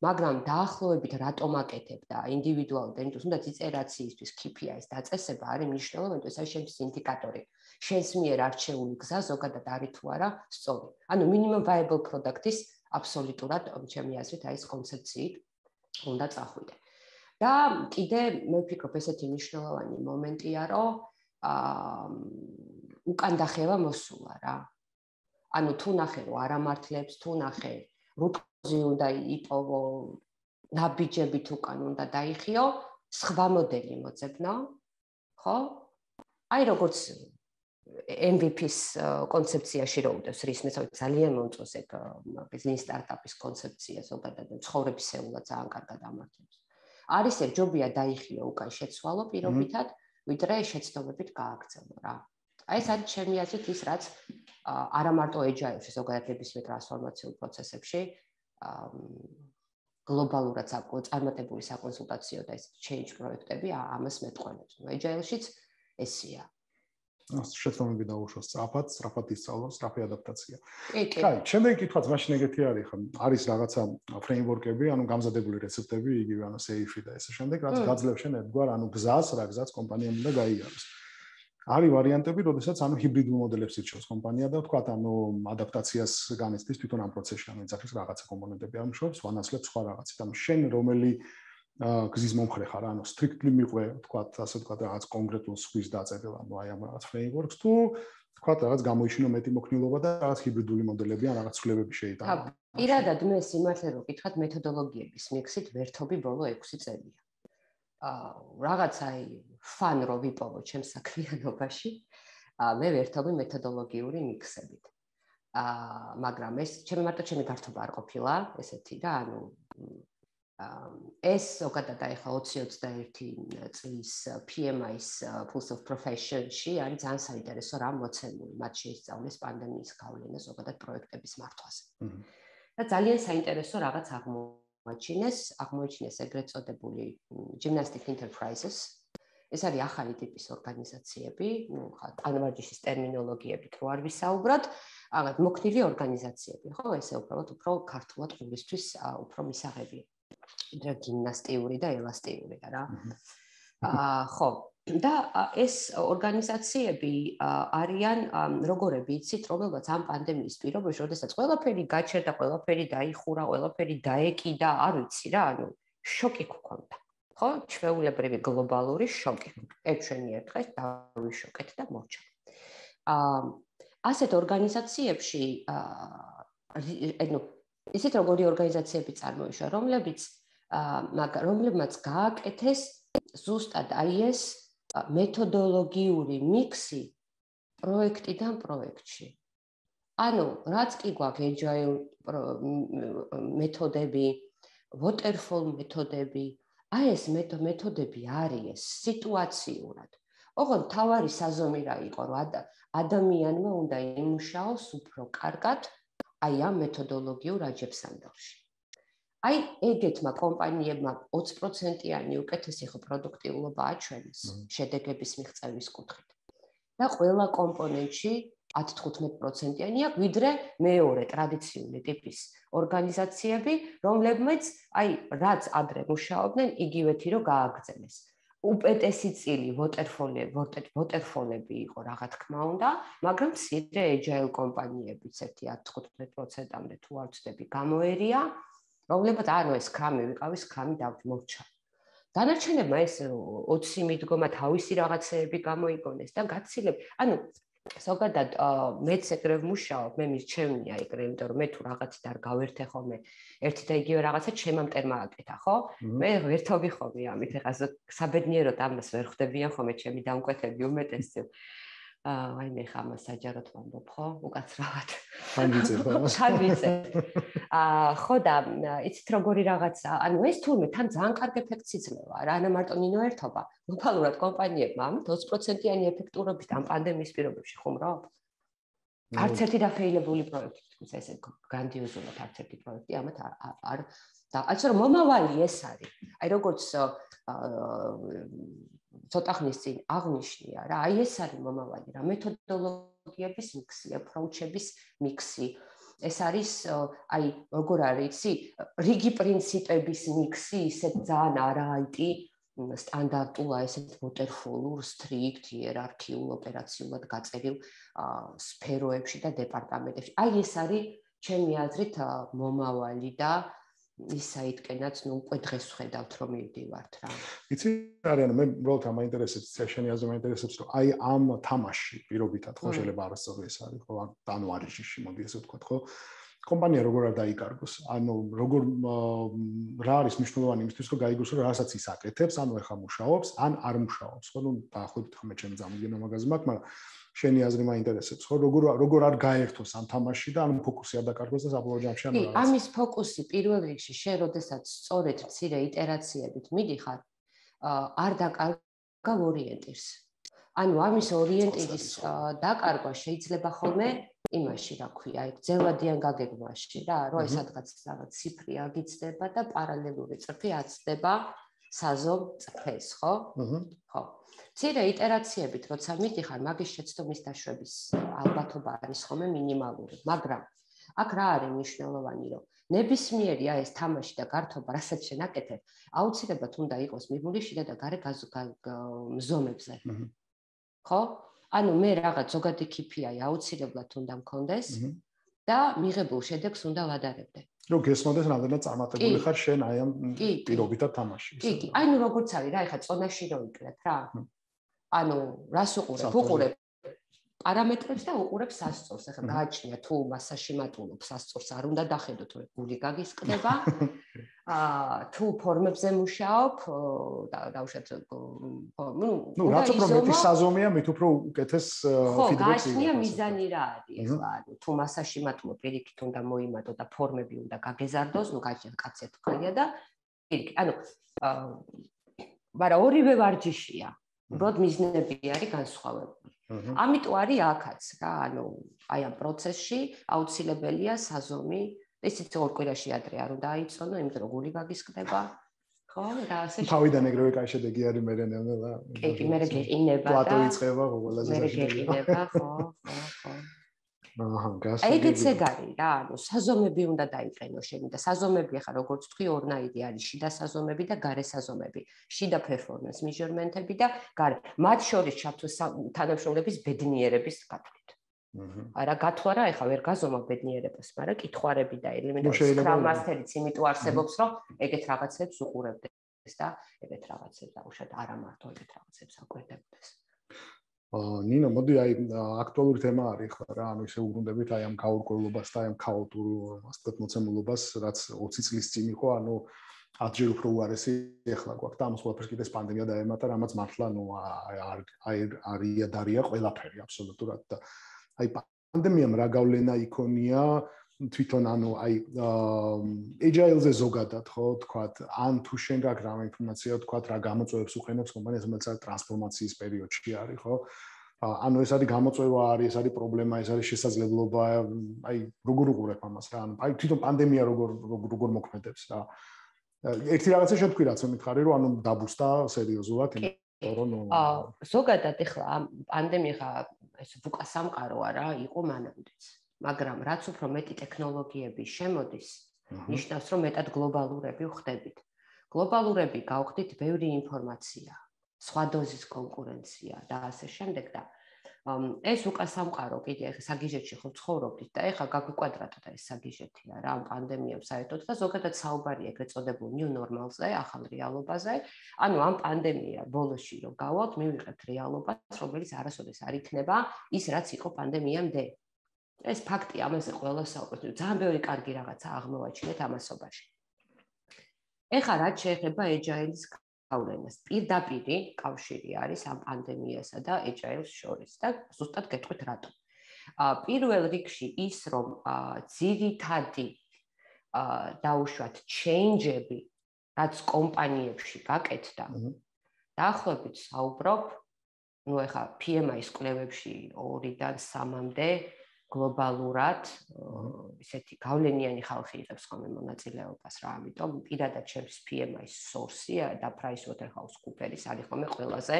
მაგრამ დაახლოებით რატომ აკეთებ და ინდივიდუალურად ენდოს უნდა იტერაციისთვის ქი პი აის დაწესება არის მნიშვნელოვანი, ეს არის შენთვის ინდიკატორი. შენს მიერ არჩეული გზა ზოგადად არის თუ არა სწორი. ანუ minimum viable product-ის აბსოლუტურად ჩემი აზრით აი ეს კონცეფციით უნდა წახვიდე. და კიდე მე ვფიქრობ ესეთი მნიშვნელოვანი მომენტია, რომ აა უკან დახევა მოსულა რა. ანუ თუ ნახე რომ არ ამართლებს, თუ ნახე რუტკოზი უნდა იპოვო, ნაბიჯებით უკან უნდა დაიხიო, სხვა მოდელი მოძებნო, ხო? აი როგორც ემ ვი პის კონცეფციაში რო უდევს რისმეს, ძალიან მომწონს ეგ ბიზნეს სტარტაპის კონცეფცია, ზოგადად ცხოვრებისეულად ძალიან კარგად ამართლებს. არის ეგ ჯობია დაიხიო უკან შეცვალო პირობითად, ვიდრე შეცდომებით გააგრძელო რა. აი ეს არის ჩემი აზრით ის რაც არა მარტო agile-ში, ზოგადად ნებისმიერ ტრანსფორმაციულ პროცესებში გლობალურად წარმატებული საკონსულტაციო და ეს change პროექტები ამას მეტყველებს. agile-შიც ესეა. შეცდომები დაუშვას სწრაფად, სწრაფად ისწავლო, სწრაფი ადაპტაცია. კაი, შემდეგი კითხვაც მაშინ ეგეთი არის ხა, არის რაღაცა ფრეიმვორკები, ანუ გამზადებული რეცეპტები, იგივე ანუ სეიფი და ესე შემდეგ, რაც გაძლევს შენ ერთგვარ ანუ გზას, რა გზაც კომპანიამ უნდა გაიაროს. არის ვარიანტები, როდესაც ანუ ჰიბრიდულ მოდელებს ირჩევს კომპანია და თქვა, ანუ ადაპტაციას განიცდის თვითონ ამ პროცესში, ანუ ეძახის რაღაცა კომპონენტები ამუშავებს, ვანაცვლებს სხვა რაღაცით. ანუ შენ რომელი გზის მომხრე ხარ, ანუ strictly მიყვე, თქვა, ასე თქვა, რაღაც კონკრეტულ სხვის დაწერილ, ანუ აი ამ რაღაც frameworks თუ თქვა, რაღაც გამოიჩინო მეტი მოქნილობა და რაღაც ჰიბრიდული მოდელები ან რაღაც ცვლილებები შეიტანა. პირადად მე სიმართლე რო გითხრათ, მეთოდოლოგიების მიქსით ვერთობი ბოლო ექვსი წელია. აა რაღაც აი fun რო ვიპოვო ჩემს საქმიანობაში, მე ვერთობი მეთოდოლოგიური მიქსებით. აა მაგრამ ეს ჩემი მარტო ჩემი გართობა არ ყოფილა, ესეთი და ანუ ეს ზოგადად აი ხა ოცი ოცდაერთი წლის პი ემ აის Pulse of Profession-ში არის ძალიან საინტერესო რამ მოცემული, მათ შეისწავლეს პანდემიის გავლენა ზოგადად პროექტების მართვაზე. და ძალიან საინტერესო რაღაც აღმოაჩინეს, აღმოაჩინეს ეგრეთ წოდებული Gymnastic Enterprises. ეს არის ახალი ტიპის ორგანიზაციები, ну, ხა ტანვარჯიშის ტერმინოლოგიებით რო არ ვისაუბროთ, აღარ მოქნილი ორგანიზაციები, ხო, ესე უბრალოდ უფრო ქართულად ყურისთვის უფრო მისაღებია. და გიმნასტიური და ელასტიური რა. აა ხო, და ეს ორგანიზაციები არიან როგორები იცით, რომელსაც ამ პანდემიის პირობებში, როდესაც ყველაფერი გაჩერდა, ყველაფერი დაიხურა, ყველაფერი დაეკიდა, არ ვიცი რა, ანუ შოკი გქონდა. ხო, ჩვეულებრივი გლობალური შოკი. ეგ ჩვენი ერთხელ დავიშოკეთ და მოვჭა. აა ასეთ ორგანიზაციებში აა ანუ ისეთ როგორი ორგანიზაციები წარმოიშვა, რომლებიც აა რომლებმაც გააკეთეს ზუსტად აი ეს მეთოდოლოგიური მიქსი პროექტიდან პროექტში. ანუ რაც კი გვაქვს agile მეთოდები, waterfall მეთოდები, აი ეს მეთოდები არის სიტუაციურად. ოღონდ თავარი საზომი რა იყო, რომ ადამიანმა უნდა იმუშაოს უფრო კარგად აი ამ მეთოდოლოგიურ აჯებსანდალში. აი ეგეთმა კომპანიებმა ოცი პროცენტიანი უკეთესი ხო პროდუქტიულობა აჩვენეს შედეგების მიღწევის კუთხით. და ყველა კომპონენტში ათი თხუთმეტი პროცენტიანი აქვს, ვიდრე მეორე ტრადიციული ტიპის ორგანიზაციები, რომლებმაც აი რაც ადრე მუშაობდნენ, იგივეთი რო გააგრძელეს. უპეტესი წილი waterfall-ები იყო რა თქმა უნდა, მაგრამ მცირე agile კომპანიებიც ერთი ათი თხუთმეტი პროცენტამდე თუ არ ვცდები გამოერია, რომლებიც ანუ ეს Scrum-ი ვიყავი, Scrum-ი დავმოვჩა. დანარჩენებმა ეს ოცი მიდგომა თავისი რაღაცეები გამოიგონეს და გაცილებ, ანუ ზოგადად მეც ეგრე ვმუშაობ, მე მირჩევნია ეგრე, იმიტომ რომ მე თუ რაღაცით არ გავერთე ხოლმე ერთი და იგივე რაღაცა ჩემამ მტერმა აკეთა, ხო? მე ვერთობი ხოლმე ამით, ეხლა საბედნიეროდ ამას ვერ ხვდებიან ხოლმე ჩემი დამკვეთები უმეტესწილ. აი მე ხა მას საჯაროდ ვამბობ, ხო? უკაცრავად. თან ვიცებ ამას. თან ვიცებ. აა ხო და იცით როგორი რაღაცა, ანუ ეს თურმე თან ძალიან კარგი ეფექტს იძლევა რა, არა მარტო ნინო ერთობა. გლობალურად კომპანიებმა ამით ოცი პროცენტიანი ეფექტურობით ამ პანდემიის პირობებში ხუმრობ. არც ერთი დაფეილებული პროექტი, თუმცა ესე გრანდიოზულად არც ერთი პროექტი ამათ არ და ასე რომ მომავალი ეს არის. აი როგორც ცოტა ხნის წინ აღნიშნია რა, აი ეს არის მომავალი რა, მეთოდოლოგიების მიქსი, აპროუჩების მიქსი. ეს არის აი როგორ არის, იცი, რიგი პრინციპების მიქსი, ისეთ ძალიან არაიტი სტანდარტულ, აი ესეთ waterfall-ურ, strict, იერარქიულ, ოპერაციულად გაწერილ სფეროებში და დეპარტამენტებში. აი ეს არის ჩემი აზრით მომავალი და ის საითკენაც ნუ უკვე დღეს ვხედავთ რომ მივდივართ რა. იცი არა, მე უბრალოდ ამ აინტერესებს, შენი აზრი მაინტერესებს, რომ აი ამ თამაში პირობითად ხო შეიძლება არასწორი ეს არის, ხო, ანუ არის ჯიში, მოდი ესე ვთქვათ, ხო? კომპანია როგორ არ დაიკარგოს, ანუ როგორ რა არის მნიშვნელოვანი იმისთვის, რომ გაიგოს, რომ რასაც ის აკეთებს, ანუ ეხა მუშაობს, ან არ მუშაობს, ხო? ნუ დაახლოებით ხმე ჩემი წარმოგენა მაგაზე მაქვს, მაგრამ შენი აზრი მაინტერესებს, ხო? როგორ როგორ არ გაერთოს ამ თამაში და ანუ ფოკუსი არ დაკარგოს და საბოლოო ჯამში ანუ რაღაც. ამის ფოკუსი პირველ რიგში შენ როდესაც სწორედ მცირე იტერაციებით მიდიხარ, არ დაკარგავ ორიენტირს. ანუ ამის ორიენტირის დაკარგვა შეიძლება ხოლმე იმაში, რა ქვია, აი ძელვადიან გაგეგმვაში რა, რომ აი სადღაც რაღაც ციფრი აგიცდება და პარალელური წრფი აცდება საზომ წრფეს, ხო? ხო. მცირე იტერაციებით, როცა მიდიხარ, მაგის შეცდომის დაშვების ალბათობა არის ხოლმე მინიმალური, მაგრამ აქ რა არის მნიშვნელოვანი, რომ ნებისმიერი აი ეს თამაში და გართობა, რასაც შენ აკეთებ, აუცილებლად უნდა იყოს მიბული შიდა და გარე მზომებზე. ხო? ანუ მე რაღაც ზოგადი ქიფიაი აუცილებლად უნდა მქონდეს და მიღებულ შედეგს უნდა ვადარებდე. რომ გესმოდეს რამდენად წარმატებული ხარ შენ აი ამ პირობითად თამაში. კი, კი. აი ნუ როგორც არის რა, ეხა წონაში რო იკლებ რა. ანუ რას უყურებ? უყურებ პარამეტრებს და უყურებ სასწორს. ეხა გააჩნია თუ მასაში მატულობ სასწორს არ უნდა დახედოთ, რომ გული გაგისკდება. აა თუ ფორმებზე მუშაობ და დაუშვათ ნუ ნუ რაც უფრო მეტი საზომია, მით უფრო უკეთეს ფიდბექს. ხო, გააჩნია მიზანი რა არის ეხლა, ანუ თუ მასაში მატულობ, პირიქით უნდა მოიმატო და ფორმები უნდა გაგეზარდოს, ნუ გააჩნია კაცი თქვია და პირიქით, ანუ მაგრამ ორივე ვარჯიშია. უბრალოდ მიზნები არის განსხვავებული. ამიტომ არის აქაც რა, ანუ აი ამ პროცესში აუცილებელია საზომი, ისიც ორ კვირაში ადრე არ უნდა აიწონო, იმიტომ რომ გული გაგისკდება, ხო? და ასე თავიდან ეგრევე კაი შედეგი არის მერე ნელა. კი, კი, მერე გეყინება და პლატო იწყება ყველაზე მერე გეყინება, ხო, ხო, ხო. აჰა, გასაგები. ეგეც ეგ არის რა, ანუ საზომები უნდა დაიყენო შენი და საზომები ახლა როგორც თქვი, ორნაირი არის, შიდა საზომები და გარე საზომები. შიდა performance measurement-ები და გარე. მათ შორის ჩართოს თანამშრომლების ბედნიერების გათვლით. არა გათვლა რა, ეხლა ვერ გაზომა ბედნიერებას, მაგრამ კითხვარები და ელემენტები Scrum Master-იც იმიტომ არსებობს, რომ ეგეთ რაღაცებს უყურებდეს და ეგეთ რაღაცებს დაუშვათ არა მარტო ეგეთ რაღაცებს აკვირდებოდეს. ნინო, მოდი აი აქტუალური თემა არის ხა რა, ანუ ისე უბრუნდებით აი ამ გაურკვევლობას და აი ამ ქაოტურ ასეთ მოცემულობას, რაც ოცი წლის წინ იყო, ანუ ათჯერ უფრო უარესი ეხლა გვაქვს და ამას ყველაფერს კიდე პანდემია დაემატა, რამაც მართლა ნუ არ არია დარია ყველაფერი აბსოლუტურად და აი პანდემიამ რა გავლენა იქონია თვითონ ანუ აი agile-ზე ზოგადად ხო თქვათ ან თუ შენ გაქვს რა ინფორმაცია თქვათ რა გამოწვევებს უყენებს კომპანიას რომელსაც ტრანსფორმაციის პერიოდში არის ხო ანუ ეს არის გამოწვევა არის ეს არის პრობლემა ეს არის შესაძლებლობა აი როგორ უყურებ ამას რა ანუ აი თვითონ პანდემია როგორ როგორ მოქმედებს რა ერთი რაღაცა შეთქვი რაც მითხარი რომ ანუ დაბუსტა სერიოზულად იმიტომ რომ აა ზოგადად ეხლა პანდემია ეს უკასამყაროა რა იყო მანამდეც მაგრამ რაც უფრო მეტი ტექნოლოგიები შემოდის, ნიშნავს, რომ მეტად გლობალურები ვხდებით. გლობალურები გავხდით ბევრი ინფორმაცია, სხვა დოზის კონკურენცია და ასე შემდეგ და ეს უკასამყარო კიდე ეხლა საგიჟეთში ხო ცხოვრობდით და ეხლა გაგვიკვადრატა ეს საგიჟეთია რა პანდემიამ საერთოდ და ზოგადად საუბარია ეგრეთ წოდებულ new normal-ზე, ახალ რეალობაზე. ანუ ამ პანდემია ბოლოში რომ გავალთ, მივიღებთ რეალობას, რომელიც არასოდეს არ იქნება ის რაც იყო პანდემიამდე. ეს ფაქტი ამაზე ყველა საუბრობს. ძალიან ბევრი კარგი რაღაცა აღმოვაჩინეთ ამასობაში. ეხლა რაც შეეხება agile-ის გავლენას. პირდაპირი კავშირი არის ამ პანდემიასა და agile-ს შორის და ზუსტად გეტყვით რატომ. პირველ რიგში ის, რომ ძირითადი დაუშვათ change-ები, რაც კომპანიებში გაკეთდა, დაახლოებით საუბრობ, ну ეხა P M I-ის კვლევებში ორიდან სამამდე გლობალურად ისეთი გავლენიანი ხალხი იღებს ხოლმე მონაწილეობას რა, ამიტომ პირადად ჩემს P M I-ის source-ი და PricewaterhouseCoopers არის ხოლმე ყველაზე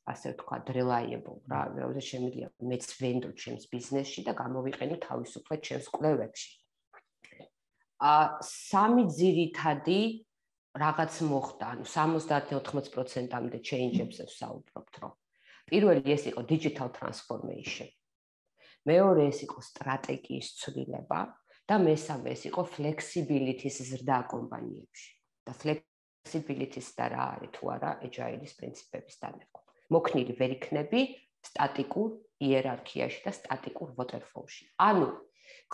ასე ვთქვათ reliable რა, როდესაც შემიძლია მეც ვენდო ჩემს ბიზნესში და გამოვიყენო თავისუფლად ჩემს კვლევებში. სამი ძირითადი რაღაც მოხდა, ანუ სამოცდაათიდან ოთხმოცი პროცენტამდე change-ებზე ვსაუბრობთ, რომ პირველი ეს იყო digital transformation. მეორე ეს იყო სტრატეგიის ცვლილება და მესამე ეს იყო flexibility-ის ზრდა კომპანიებში. და flexibility-ის და რა არის თუ არა agile-ის პრინციპების დანერგვა. მოქნილი ვერ იქნები სტატიკურ იერარქიაში და სტატიკურ waterfall-ში. ანუ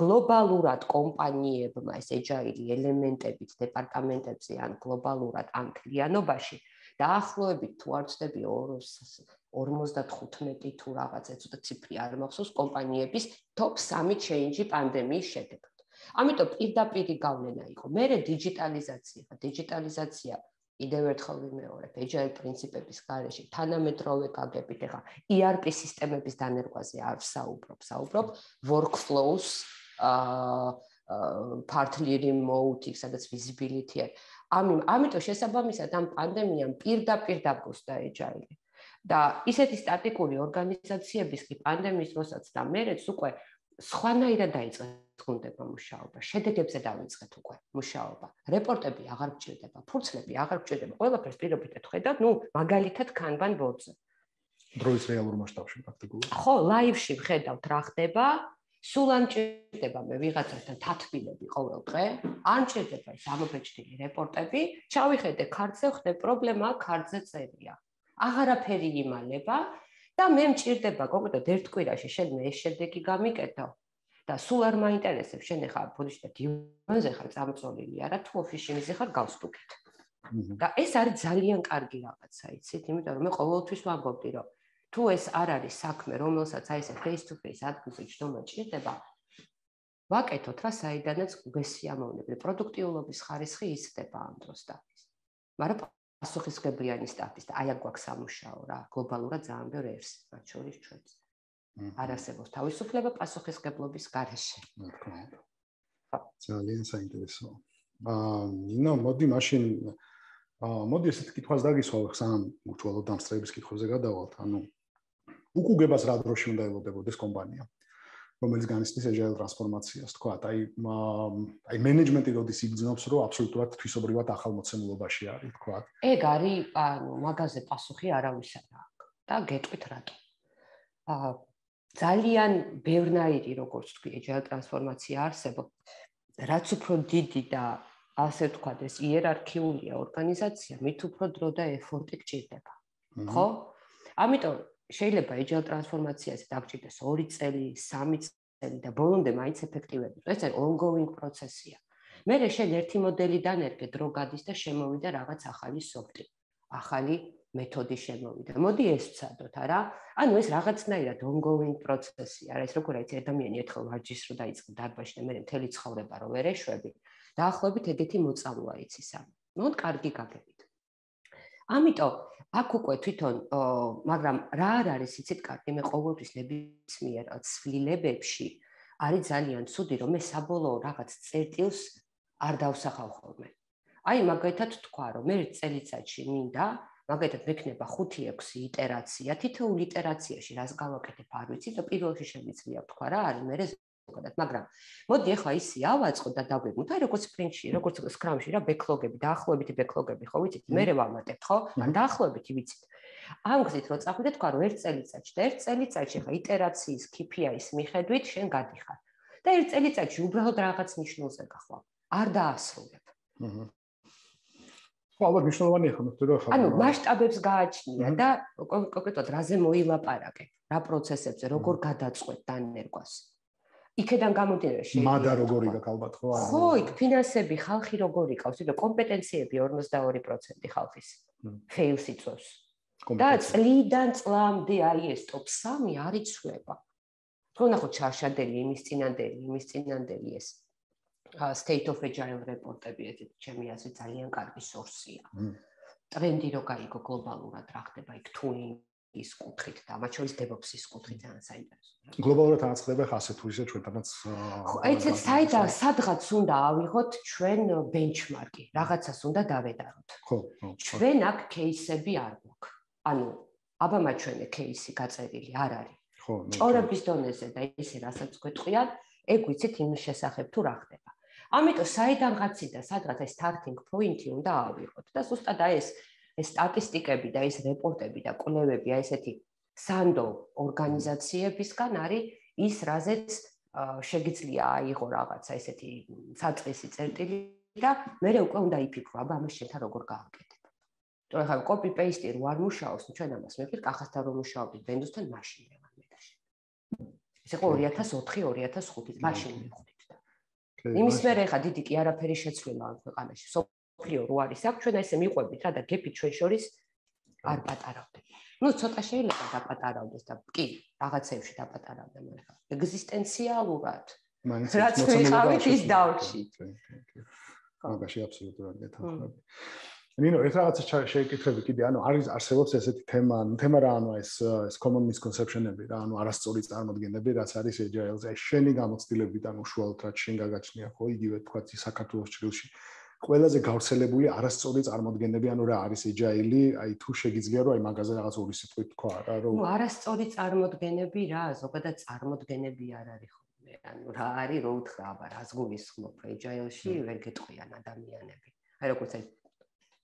გლობალურად კომპანიებმა ეს agile ელემენტებით დეპარტამენტებზე ან გლობალურად ან კლიანობაში დაახლოებით თუ არ ვცდები ორმოცდათხუთმეტი თუ რაღაცა ცოტა ციფრი არ მახსოვს კომპანიების top სამი change პანდემიის შედეგად. ამიტომ პირდაპირი გავლენა იყო. მერე დიჯიტალიზაცია, დიჯიტალიზაცია კიდევ ერთხელ ვიმეორებ, agile პრინციპების გარეშე თანამედროვე გაგებით, ეხა E R P სისტემების დანერგვაზე არ ვსაუბრობ, ვსაუბრობ workflows, partly remote, სადაც visibility არის. ამიტომ შესაბამისად ამ პანდემიამ პირდაპირ დაგუსტა agile. და ისეთი სტატიკური ორგანიზაციების კი პანდემიის დროსაც და მერეც უკვე სხვანაირად დაიწყეს გუნდებმა მუშაობა. შედეგებზე დავიწყეთ უკვე მუშაობა. რეპორტები აღარ გჭირდება, ფურცლები აღარ გჭირდება. ყველაფერს პირობითად ხედავთ, ну, მაგალითად Kanban board-ზე. დროის რეალურ მასშტაბში პრაქტიკულად. ხო, live-ში ვხედავთ რა ხდება. სულ არ მჭირდება მე ვიღაცასთან თათბილები ყოველ დღე, არ მჭირდება ის ამობეჭდილი რეპორტები, ჩავიხედე ქართზე, ხდე პრობლემა ქართზე წერია. აღარაფერი იმალება და მე მჭირდება კონკრეტად ერთ კვირაში შენ მე ეს შედეგი გამიკეთო და სულ არ მაინტერესებს შენ ახლა ბოდიში და დივანზე ხარ წამწოლილი არა თუ ოფისში მიზი ხარ გავსტუკეთ. და ეს არის ძალიან კარგი რაღაცა, იცით, იმიტომ რომ მე ყოველთვის ვამბობდი რომ თუ ეს არ არის საქმე, რომელსაც აი ესე face to face ადგილზე ჯდომა ჭირდება, ვაკეთოთ რა საიდანაც გესიამოვნებდი, პროდუქტიულობის ხარისხი იზრდება ამ დროს და ის. მაგრამ პასუხისმგებლიანი სტაფის და აი აქ გვაქვს სამუშაო რა, გლობალურად ძალიან ბევრი ერს, მათ შორის ჩვენც. არ არსებობს თავისუფლება პასუხისმგებლობის გარეშე. ძალიან საინტერესოა. აა, ნინო, მოდი მაშინ აა, მოდი ესეთ კითხვას დაგისვავ, სანამ უშუალოდ დამსწრების კითხვებზე გადავალთ, ანუ უკუგებას რა დროში უნდა ელოდებოდეს კომპანია, რომელიც განიცდის agile ტრანსფორმაციას, თქვა, აი აი მენეჯმენტი როდის იგრძნობს, რომ აბსოლუტურად თვისობრივად ახალ მოცემულობაში არის, თქვა. ეგ არის, ანუ მაგაზე პასუხი არავის არ აქვს და გეტყვით რატო. აა ძალიან ბევრნაირი, როგორც თქვი, agile ტრანსფორმაცია არსებობს, რაც უფრო დიდი და ასე ვთქვათ, ეს იერარქიულია ორგანიზაცია, მით უფრო დრო და ეფორტი გჭირდება. ხო? ამიტომ შეიძლება agile ტრანსფორმაციაზე დაგჭირდეს ორი წელი, სამი წელი და ბოლომდე მაინც ეფექტივები. ეს არის ongoing პროცესია. მერე შენ ერთი მოდელი დანერგე, დრო გადის და შემოვიდა რაღაც ახალი სოფტი, ახალი მეთოდი შემოვიდა. მოდი ეს ვცადოთ, არა? ანუ ეს რაღაცნაირად ongoing პროცესია, რა, ეს როგორ არის ადამიანი ერთხელ ვარჯიშს რო დაიწყო დარბაზში და მერე მთელი ცხოვრება რო ვერ ეშვები. დაახლოებით ეგეთი მოწამვლა იცის ამ. მოდ კარგი გაგებით. ამიტომ აქ უკვე თვითონ, მაგრამ რა არ არის იცით კარგი, მე ყოველთვის ნებისმიერ ცვლილებებში არის ძალიან ცუდი, რომ მე საბოლოო რაღაც წერტილს არ დავსახავ ხოლმე. აი მაგალითად თქვა, რომ მე წელიწადში მინდა, მაგალითად მექნება ხუთი ექვსი იტერაცია, თითოეულ იტერაციაში რას გავაკეთებ არ ვიცი და პირველში შემიძლია თქვა რა არის მე ზოგადად, მაგრამ მოდი ახლა ისი ავაწყო და დავგეგმოთ, აი როგორც სპრინტში, როგორც სკრამში რა ბეკლოგები, დაახლოებითი ბეკლოგები ხო ვიცით, მე ვამატებთ ხო? ან დაახლოებითი ვიცით. ამ გზით რო წახვიდე თქვა რომ ერთ წელიწადში და ერთ წელიწადში ხა იტერაციის K P I-ის მიხედვით შენ გადიხარ. და ერთ წელიწადში უბრალოდ რაღაც ნიშნულზე გახვალ. არ დაასრულებ. აჰა. ხო, ალბათ მნიშვნელოვანია ხომ, იმიტომ რომ ანუ მასშტაბებს გააჩნია და კონკრეტულად რაზე მოილაპარაკე, რა პროცესებზე, როგორ გადაწყვეტ დანერგვას. იქედან გამომდინარე შეიძლება. მადა როგორი გაქვს ალბათ ხო? ხო, იქ ფინანსები, ხალხი როგორი ყავს, იმიტომ კომპეტენციები ორმოცდაორი პროცენტი ხალხის fails იწვევს. და წლიდან წლამდე აი ეს ტოპ სამი არ იცვლება. თქო ნახოთ ჩარშადელი, იმის წინანდელი, იმის წინანდელი ეს state of agile რეპორტები, ეს ჩემი აზრით ძალიან კარგი სორსია. ტრენდი რო გაიგო გლობალურად რა ხდება იქ თუინგის კუთხით და მათ შორის DevOps-ის კუთხით ძალიან საინტერესოა. გლობალურად აწყდება ხასე თუ ისე ჩვენთანაც ხო, ეცეთ საიდან სადღაც უნდა ავიღოთ ჩვენ ბენჩმარკი, რაღაცას უნდა დავედაროთ. ხო, ხო. ჩვენ აქ кейსები არ გვაქვს. ანუ აბა ჩვენი кейსი გაწერილი არ არის. ხო, ჭორების დონეზე და ისე რასაც გვეტყვიან, ეგ ვიცით იმის შესახებ თუ რა ხდება. ამიტომ საიდანღაცი და სადღაც ეს starting point-ი უნდა ავიღოთ და ზუსტად აი ეს ეს სტატისტიკები და ეს რეპორტები და კვლევები აი ესეთი სანდო ორგანიზაციებისგან არის ის რაზეც შეგიძლია აიღო რაღაცა ესეთი საწყისი წერტილი და მე უკვე უნდა იფიქრო აბა ამას შენთან როგორ გააკეთებ. თორე ხა copy paste რო არ მუშაობს, ჩვენ ამას მეფიქრ კახასთან რომ მუშაობდით Windows-თან მაშინ მევარ მე და შენ. ეს იყო ორი ათას ოთხი ორი ათას ხუთი მაშინ მივხვდით და. იმის მერე ხა დიდი კი არაფერი შეცვლილა ამ ქვეყანაში. სოფლიო რო არის აქ ჩვენ ესე მიყვებით რა და გეფი ჩვენ შორის არ პატარავდეთ. ნუ ცოტა შეიძლება დაპატარავდეს და კი რაღაცებში დაპატარავდა მაგრამ ეგზისტენციალურად რაც ვიყავით ის დავჭით. მაგაში აბსოლუტურად გეთანხმები. ნინო, ეს რაღაცა შეეკითხები კიდე, ანუ არის არსებობს ესეთი თემა, ანუ თემა რა, ანუ ეს ეს common misconception-ები რა, ანუ არასწორი წარმოდგენები, რაც არის agile-ზე, აი შენი გამოცდილებიდან უშუალოდ რაც შენ გაგაჩნია, ხო, იგივე თქვა საქართველოს ჭრილში. ყველაზე გავრცელებული არასწორი წარმოდგენები, ანუ რა არის agile-ი, აი თუ შეგიძლია რომ აი მაგაზე რაღაც ორი სიტყვით თქვა რა, რომ ნუ არასწორი წარმოდგენები რა, ზოგადად წარმოდგენები არ არის ხოლმე. ანუ რა არის, რო უთხრა, აბა რას გულისხმობ agile-ში, ვერ გეტყვიან ადამიანები. აი როგორც აი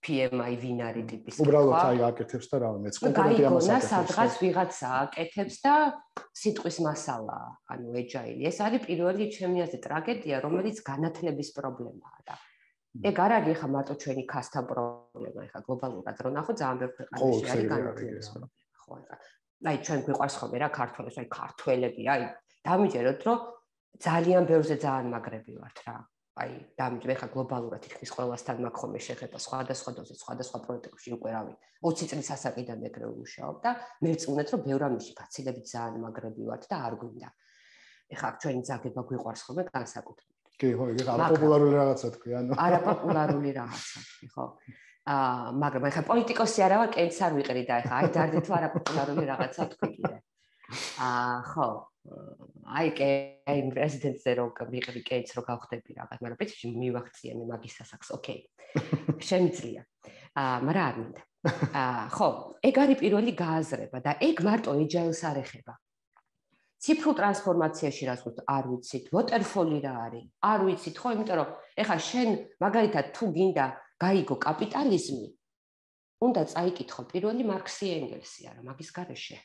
P M I ვინ არის ტიპის. უბრალოდ აი აკეთებს და რა მეც კონკრეტულად ამას აკეთებს. სადღაც ვიღაცა აკეთებს და სიტყვის მასალაა, ანუ agile. ეს არის პირველი ჩემი აზრით ტრაგედია, რომელიც განათლების პრობლემაა და ეგ არ არის ხა მარტო ჩვენი ქასთან პრობლემა, ხა გლობალურად რო ნახო ძალიან ბევრ ქვეყანაში არის განათლების პრობლემა, ხო ხა. აი ჩვენ გვიყვარს ხოლმე რა ქართველებს, აი ქართველები, აი დამიჯეროთ რომ ძალიან ბევრზე ძალიან მაგრები ვართ რა. აი დამიჯერე ხა გლობალურად თითქმის ყველასთან მაქვს ხოლმე შეხება სხვადასხვა დონეზე, სხვადასხვა პროექტებში უკვე რავი. ოცი წლის ასაკიდან ეგრე ვმუშაობ და მე ვწუნეთ რომ ბევრ ამაში ფაცილებით ძალიან მაგრები ვართ და არ გვინდა. ეხლა ჩვენი ძაგება გვიყვარს ხოლმე განსაკუთრებით. კი, ხო, ეგ არაპოპულარული რაღაცა თქვი, ანუ. არაპოპულარული რაღაცა თქვი, ხო. აა, მაგრამ ეხლა პოლიტიკოსი არა ვარ, კენც არ ვიყრი და ეხლა აი დარდი თუ არაპოპულარული რაღაცა თქვი კიდე. აა, ხო. აი კე აი პრეზიდენტზე რო ვიყრი კენც რო გავხდები რაღაც, მაგრამ პრინციპში მივახციე მე მაგის სასახს, ოკეი. შემიძლია. აა, მაგრამ არ მინდა. აა, ხო, ეგ არის პირველი გააზრება და ეგ მარტო agile-ს არ ეხება. ციფრულ ტრანსფორმაციაში რაც ვთქვით, არ ვიცით, waterfall-ი რა არის? არ ვიცით, ხო, იმიტომ რომ ეხლა შენ მაგალითად თუ გინდა გაიგო კაპიტალიზმი, უნდა წაიკითხო პირველი მარქსი ენგელსი არა, მაგის გარეშე.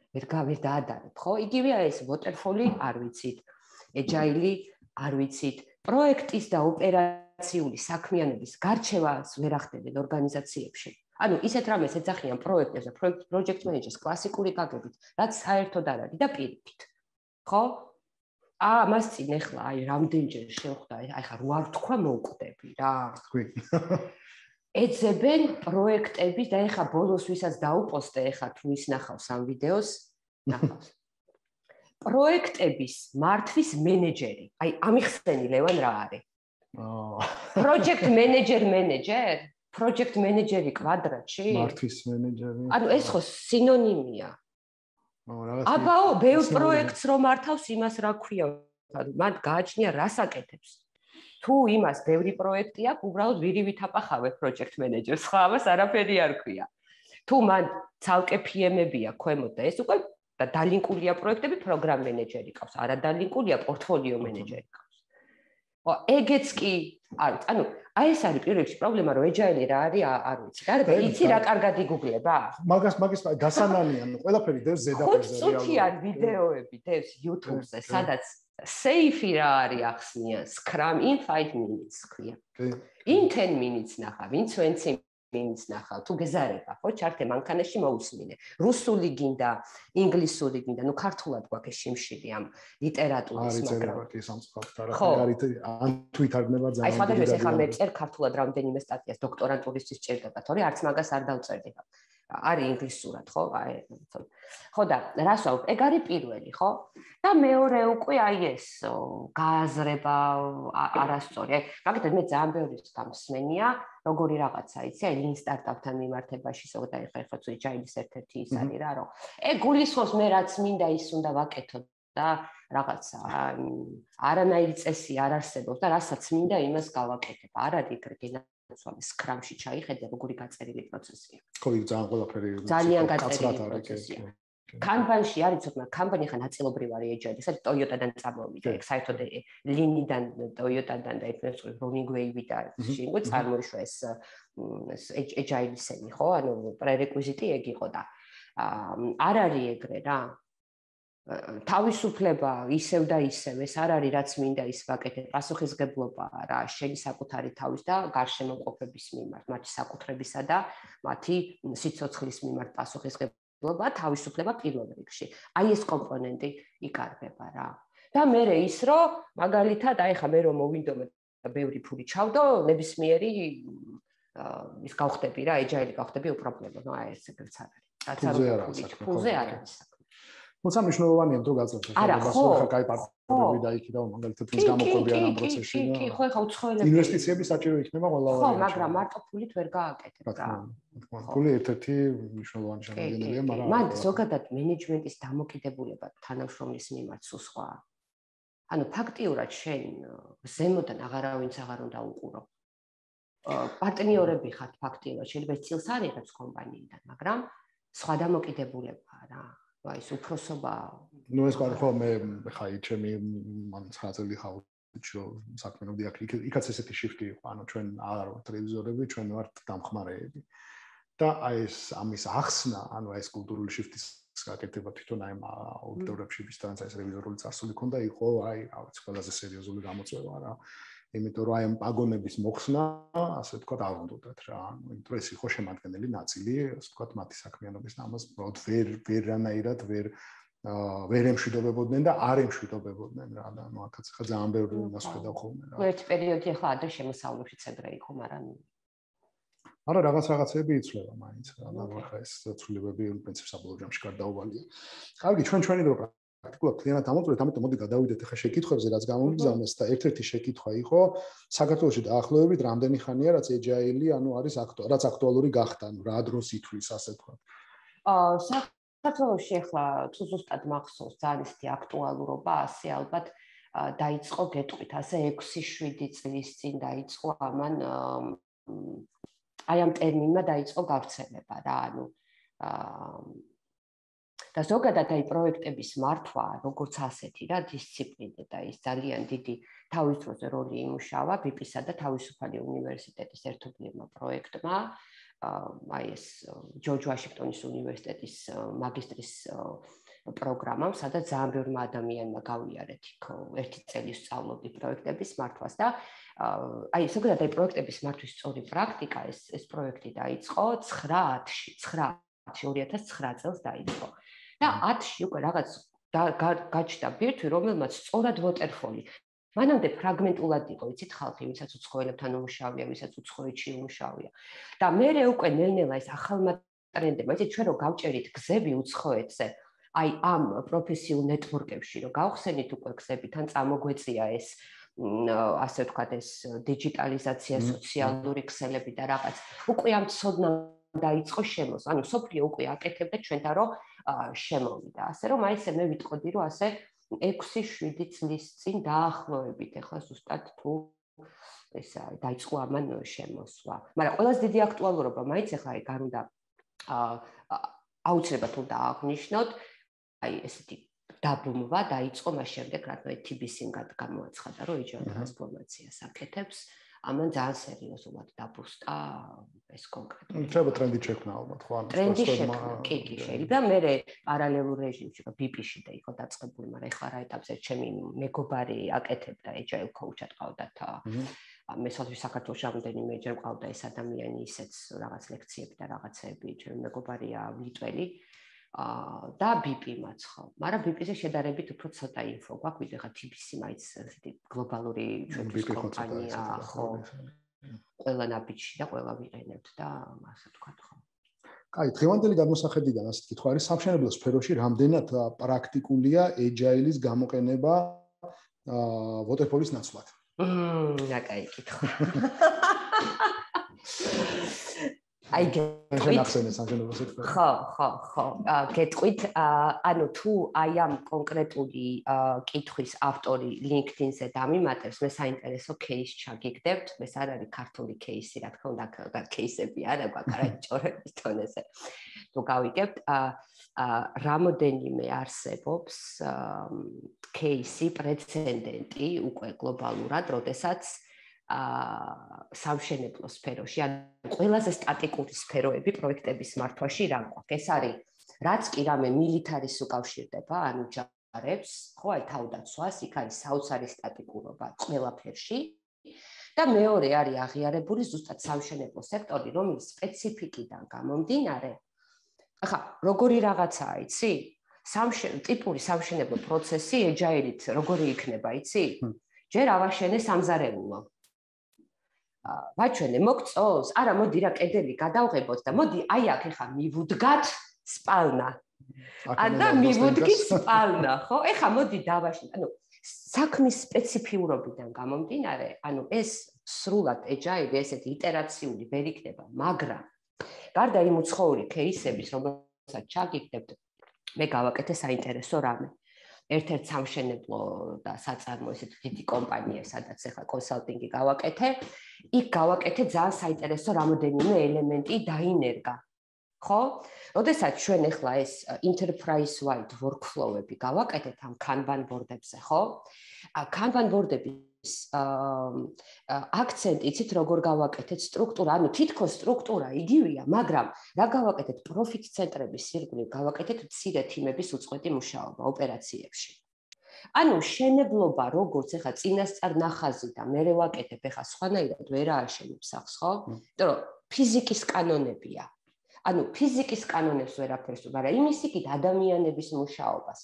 ვერ გავერ დაადარებ, ხო? იგივეა ეს waterfall-ი არ ვიცით, agile-ი არ ვიცით, პროექტის და ოპერაციული საქმიანობის გარჩევას ვერ ახდენენ ორგანიზაციებში. ანუ ისეთ რამეს ეძახიან პროექტებს და project managers კლასიკური გაგებით, რაც საერთოდ არ არის და პირიქით. ხო? აა, მას წინ ეხლა აი რამდენჯერ შევხვდა, აი ხა რო არ თქვა მოვკვდები რა. თქვი. ეძებენ პროექტები და ეხლა ბოლოს ვისაც დაუპოსტე, ეხლა თუ ის ნახავს ამ ვიდეოს, ნახავს. პროექტების მართვის მენეჯერი. აი, ამიხსენი ლევან რა არის? აა. project manager manager project manager-ი კვადრატში? მართვის მენეჯერი. ანუ ეს ხო სინონიმია. აბაო, ბევრ პროექტს რომ მართავს, იმას რა ქვია? მან გააჩნია რას აკეთებს. თუ იმას ბევრი პროექტი აქვს, უბრალოდ ვირივით აპახავებ project manager-ს, ხო, ამას არაფერი არ ქვია. თუ მან ცალკე P M-ები აქვს ქვემოთ და ეს უკვე და დალინკულია პროექტები, program manager-ი ყავს, არა დალინკულია portfolio manager-ი ყავს. ხო, ეგეც კი არის. ანუ აი ეს არის პირველ რიგში პრობლემა, რომ agile რა არის, არ ვიცი. გარდა იცი რა კარგად იგუგლება? მაგას მაგის გასანანია, ანუ ყველაფერი დევს ზედაპირზე რეალურად. ხუთი წუთიან ვიდეოები დევს YouTube-ზე, სადაც safe რა არის ახსნიან, Scrum in five minutes ქვია. In ten minutes ნახა, ვინც twenty იმის ნახავ თუ გეზარება ხო ჩართე მანქანაში მოусმინე რუსული გინდა ინგლისური გინდა ნუ ქართულად გვაქვს შიმშილი ამ ლიტერატურის მაგრამ არის წერება სამწყაროდ არა არის ან თუ ითარგმნება ძალიან აი სხვადასხვა ახლა მე წერ ქართულად რამდენიმე სტატიას დოქტორანტურისთვის ჭირდება თორე არც მაგას არ დავწერდი არის ინგლისურად ხო აი ხო და რას ვაუბრ ეგ არის პირველი ხო და მეორე უკვე აი ეს გააზრება არასწორი აი მაგითად მე ძალიან ბევრი გამსმენია როგორი რაღაცა იცი აი ლინ სტარტაპთან მიმართებაში ზოგადად აი ხერხოც ჯაილის ერთ-ერთი ის არის რა რომ ეგ გულისხმობს მე რაც მინდა ის უნდა ვაკეთო და რაღაცა არანაირი წესი არ არსებობს და რასაც მინდა იმას გავაკეთებ არ არის ეგრე სვამი სკრამში ჩაიხედე როგორი გაწერილი პროცესია. ხო, იქ ძალიან ყველაფერი ძალიან გაწერილი პროცესია. კამპანიაში არის ცოტა კამპანია ხა ნაწილობრივ არის ეჯაილი, სადაც Toyota-დან წამოვიდა, ეგ საერთოდ ლინიდან Toyota-დან და ერთ-ერთი Running Wave-დან შეგვი წარმოიშვა ეს ეჯაილისები, ხო? ანუ პრერეკვიზიტი ეგ იყო და არ არის ეგრე რა. თავისუფლება ისევ და ისევ ეს არ არის რაც მინდა ის ვაკეთებ პასუხისგებლობა რა შენი საკუთარი თავის და გარშემო მყოფების მიმართ მათი საკუთრებისა და მათი სიცოცხლის მიმართ პასუხისგებლობა თავისუფლება პირველ რიგში აი ეს კომპონენტი იკარგება რა და მე ის რომ მაგალითად აი ხა მე რომ მოვინდომე და ბევრი ფული ჩავდო ნებისმიერი ის გავხდები რა ეჯაილი გავხდები უპრობლემო ნუ აი ეს ეგრეც არ არის რაც არის ფულზე არ არის თუმცა მნიშვნელოვანია თუ გაწევთ ახლა ხა კაი პარტნიორები და იქიდან მაგალითად ის გამოყობიან ამ პროცესში კი კი ხო ხა უცხოელები ინვესტიციები საჭირო იქნება ყველა ხო მაგრამ მარტო ფულით ვერ გააკეთებ რა ფული ერთ-ერთი მნიშვნელოვანი შემადგენელია მაგრამ მან ზოგადად მენეჯმენტის დამოკიდებულება თანამშრომლის მიმართ სულ სხვა ანუ ფაქტიურად შენ ზემოდან აღარავინც აღარ უნდა უყურო პარტნიორები ხართ ფაქტიურად შეიძლება წილს არ იღებს კომპანიიდან მაგრამ სხვა დამოკიდებულებაა რა აი ეს უფროსობა ნუ ეს კარ ხო მე ხა ჩემი მან ცხრაწელი ხაუჩო საქმეობდი აქ იქაც ესეთი შიფტი იყო ანუ ჩვენ არ ვართ ტელევიზორები ჩვენ ვართ დამხმარეები და აი ეს ამის ახსნა ანუ ეს კულტურული შიფტის გაკეთება თვითონ აი აუდიტორებში ვისთანაც ეს რევიზორული წარსული ქონდა იყო აი რაღაც ყველაზე სერიოზული გამოწვევა რა იმიტომ რომ აი ამ პაგონების მოხსნა ასე ვთქვათ არ უნდათ რა ანუ იმიტომ ეს იყო შემადგენელი ნაწილი ასე ვთქვათ მათი საქმიანობის ამას უბრალოდ ვერ ვერანაირად ვერ ვერ ემშვიდობებოდნენ და არ ემშვიდობებოდნენ რა და ნუ აქაც ხა ძალიან ბევრი იმას ხედავ ხოლმე რა ერთ პერიოდი ახლა ადრე შემოსავლებში ცებრა იყო მაგრამ არა რაღაც რაღაცები იცვლება მაინც რა და ხა ეს ცვლილებები პრინციპს საბოლოო ჯამში გარდაუვალია კარგი ჩვენ ჩვენი დრო პრაქტიკულად კლიენტად ამოწურეთ, ამიტომ მოდი გადავიდეთ ახლა შეკითხვებზე, რაც გამომიგზავნეს და ერთ-ერთი შეკითხვა იყო საქართველოში დაახლოებით რამდენი ხანია რაც ეჯაილი, ანუ არის აქტუალური, რაც აქტუალური გახდა, ანუ რა დროს ითვლის ასე ვთქვათ. აა საქართველოში ახლა თუ ზუსტად მახსოვს ძალიან ისეთი აქტუალურობა, ასე ალბათ დაიწყო გეტყვით, ასე ექვსი შვიდი წლის წინ დაიწყო ამან აი ამ ტერმინმა დაიწყო გავრცელება რა, ანუ აა და ზოგადად აი პროექტების მართვა, როგორც ასეთი რა, დისციპლინა და ის ძალიან დიდი თავის დროზე როლი იმუშავა ბიპ-ისა და თავისუფალი უნივერსიტეტის ერთობლივმა პროექტმა, აი ეს ჯორჯ ვაშინგტონის უნივერსიტეტის მაგისტრის პროგრამამ, სადაც ძალიან ბევრმა ადამიანმა გავიარეთ იქ ერთი წელი სწავლობდი პროექტების მართვას და აი ზოგადად აი პროექტების მართვის სწორი პრაქტიკა ეს ეს პროექტი დაიწყო ცხრა ათში, ცხრა ათში ორი ათას ცხრა წელს დაიწყო. და ათში უკვე რაღაც გაჩნდა ბირთვი, რომელმაც სწორად ვოტერფოლი. მანამდე ფრაგმენტულად იყო, იცით ხალხი, ვისაც უცხოელებთან უმუშავია, ვისაც უცხოეთში უმუშავია. და მერე უკვე ნელ-ნელა ეს ახალმა ტრენდებმა, იცით ჩვენ რო გავჭერით გზები უცხოეთზე, აი ამ პროფესიულ ნეტვორკებში რო გავხსენით უკვე გზები, თან წამოგვეწია ეს ასე ვთქვათ ეს დიჯიტალიზაცია, სოციალური ქსელები და რაღაც. უკვე ამ ცოდნა დაიწყო შემოსვა. ანუ სოფლიო უკვე აკეთებდა ჩვენთან რომ შემოვიდა. ასე რომ აი ესე მე ვიტყოდი რომ ასე ექვსი შვიდი წლის წინ დაახლოებით ახლა ზუსტად თუ ესა დაიწყო ამან შემოსვა. მაგრამ ყველაზე დიდი აქტუალურობა მაინც ახლა აი გარ უნდა აუცილებლად უნდა აღნიშნოთ აი ესეთი დაბრუნვა დაიწყო მას შემდეგ რადგან თი ბი სი-მ გამოაცხადა რომ ეჯაილ ტრანსფორმაციას აკეთებს. ამან ძალიან სერიოზულად დაბრუსტა ეს კონკრეტული. შეიძლება ტრენდი შექმნა ალბათ, ხო? ტრენდი შექმნა, კი, კი, შეიძლება. მე პარალელურ რეჟიმში ბიპ-ში და იყო დაწყებული, მაგრამ ეხლა რა ეტაპზე ჩემი მეგობარი აკეთებდა ეჯაილ კოუჩად ყავდათ მე სოციალურ საქართველოს რამდენიმე ჯერ მყავდა ეს ადამიანი ისეც რაღაც ლექციები და რაღაცები, ჩემი მეგობარია ლიტველი და ბიპი-მაც ხო. მაგრამ ბიპი-ზე შედარებით უფრო ცოტა ინფო გვაქვს, ვიდრე ხა თი ბი სი მაიც ესეთი გლობალური ჩვენთვის კომპანია ხო. ყველა ნაბიჯში და ყველა ვიყენებთ და ასე ვთქვათ ხო. კაი, დღევანდელი გადმოსახედიდან ასე თქვა, არის სამშენებლო სფეროში რამდენად პრაქტიკულია ეჯაილის გამოყენება waterfall-ის ნაცვლად? მმ, რა კაი კითხვა. აი გეტყვით ხო ხო ხო გეტყვით ანუ თუ აი ამ კონკრეტული კითხვის ავტორი LinkedIn-ზე დამიმატებს მე საინტერესო кейს ჩაგიგდებთ ეს არ არის ქართული кейსი რა თქმა უნდა кейსები არა გვაკარაჭორების თონეზე თუ გავიგებთ რამოდენიმე არსებობს кейსი პრეცედენტი უკვე გლობალურად როდესაც სამშენებლო სფეროში, ანუ ყველაზე სტატიკური სფეროები პროექტების მართვაში რა გვაქვს. ეს არის რაც კი რამე მილიტარის უკავშირდება, ანუ ჯარებს, ხო, აი თავდაცვას, იქ არის საოცარი სტატიკურობა ყველაფერში და მეორე არის აღიარებული ზუსტად სამშენებლო სექტორი, რომელიც სპეციფიკიდან გამომდინარე. ახლა, როგორი რაღაცაა, იცი? სამშენებლო ტიპური სამშენებლო პროცესი ეჯაილით როგორი იქნება, იცი? ჯერ ავაშენე სამზარეულო ვაჩვენე მოგწონს? არა, მოდი რა კედელი გადავღებოთ და მოდი აი აქ ეხა მივუდგათ სპალნა. და მივუდგით სპალნა, ხო? ეხა მოდი დავაშენე. ანუ საქმის სპეციფიურობიდან გამომდინარე, ანუ ეს სრულად ეჯაილი ესეთი იტერაციული ვერ იქნება, მაგრამ გარდა იმ უცხოური кейსების, რომელსაც ჩაგიგდებთ, მე გავაკეთე საინტერესო რამე. ერთ-ერთ სამშენებლო და საწარმო ესეთი დიდი კომპანია, სადაც ახლა კონსალტინგი გავაკეთე, იქ გავაკეთე ძალიან საინტერესო რამოდენიმე ელემენტი დაინერგა. ხო? როდესაც ჩვენ ახლა ეს enterprise wide workflow-ები გავაკეთეთ ამ Kanban board-ებზე, ხო? Kanban board-ების აქცენტი იცით როგორ გავაკეთეთ სტრუქტურა, ანუ თითქოს სტრუქტურა იგივეა, მაგრამ რა გავაკეთეთ პროფიტ ცენტრების ირგვლივ გავაკეთეთ მცირე თიმების უწყვეტი მუშაობა ოპერაციებში. ანუ შენებლობა როგორც ახლა წინასწარ ნახაზი და მე ვაკეთებ ახლა სხვანაირად ვერ ააშენებ სახს, ხო? იმიტომ რომ ფიზიკის კანონებია. ანუ ფიზიკის კანონებს ვერაფერს, მაგრამ იმის იქით ადამიანების მუშაობას,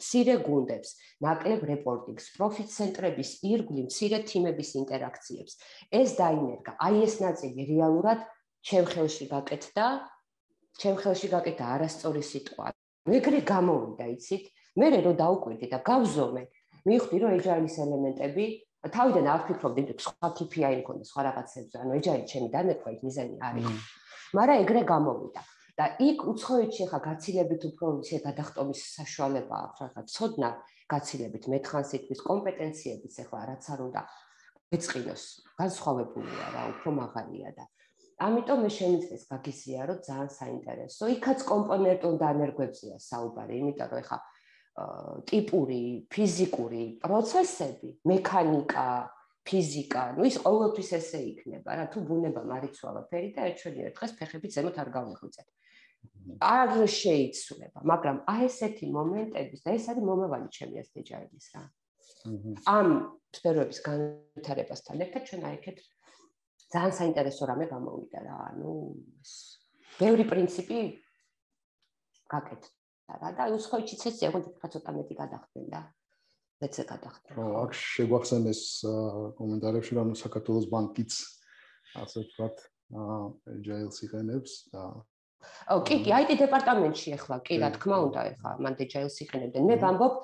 მცირე გუნდებს, ნაკლებ რეპორტინგს, პროფიტ ცენტრების ირგვლივ მცირე თიმების ინტერაქციებს. ეს დაინერგა. აი ეს ნაწილი რეალურად ჩემ ხელში გაკეთდა, ჩემ ხელში გაკეთდა არასწორი სიტყვა. ეგრე გამოვიდა, იცით? მე რო დაუკვირდი და გავზომე, მივხვდი რომ ეჯაილის ელემენტები თავიდან არ ვფიქრობდი, რომ სხვა კეი პი აი მქონდა სხვა რაღაცებზე, ანუ ეჯაილი ჩემი დანერგვა იქ მიზანი არის. მაგრამ ეგრე გამოვიდა და იქ უცხოეთში ახლა გაცილებით უფრო ისე გადახტომის საშუალება აქვს რა ცოდნა გაცილებით მეთხან სიტყვის კომპეტენციებიც ახლა რაც არ უნდა ეწყინოს განსხვავებულია რა უფრო მაღალია და ამიტომ მე შემიძლია გაგიზიარო ძალიან საინტერესო იქაც კომპონენტულ დანერგვებზეა საუბარი იმიტომ რომ ახლა ტიპური ფიზიკური პროცესები მექანიკა ფიზიკა, ну ის ყოველთვის ესე იქნება, რა თუ ბუნება მარიცვალა ფერი და ერთშენიერ დღეს ფეხებით ზემოთ არ გავიღვიძეთ. არ შეიცვლება, მაგრამ აი ესეთი მომენტების და ეს არის მომავალი ჩემი ასეთი ეჯაილის რა. ამ სფეროების განვითარებასთან ერთად ჩვენ აიქეთ ძალიან საინტერესო რამე გამოვიდა რა, ანუ ეს ბევრი პრინციპი გაკეთდა რა და უცხოეთშიც ესეა, ხო ცოტა მეტი გადახდნენ და მეც გადახდა. ხო, აქ შეგვახსენეს კომენტარებში რომ საქართველოს ბანკიც ასე ვთქვათ, ეჯაილს იყენებს და ო, კი, კი, აი ტი დეპარტამენტში ახლა, კი, რა თქმა უნდა, ახლა მან ეჯაილს იყენებდნენ. მე ვამბობ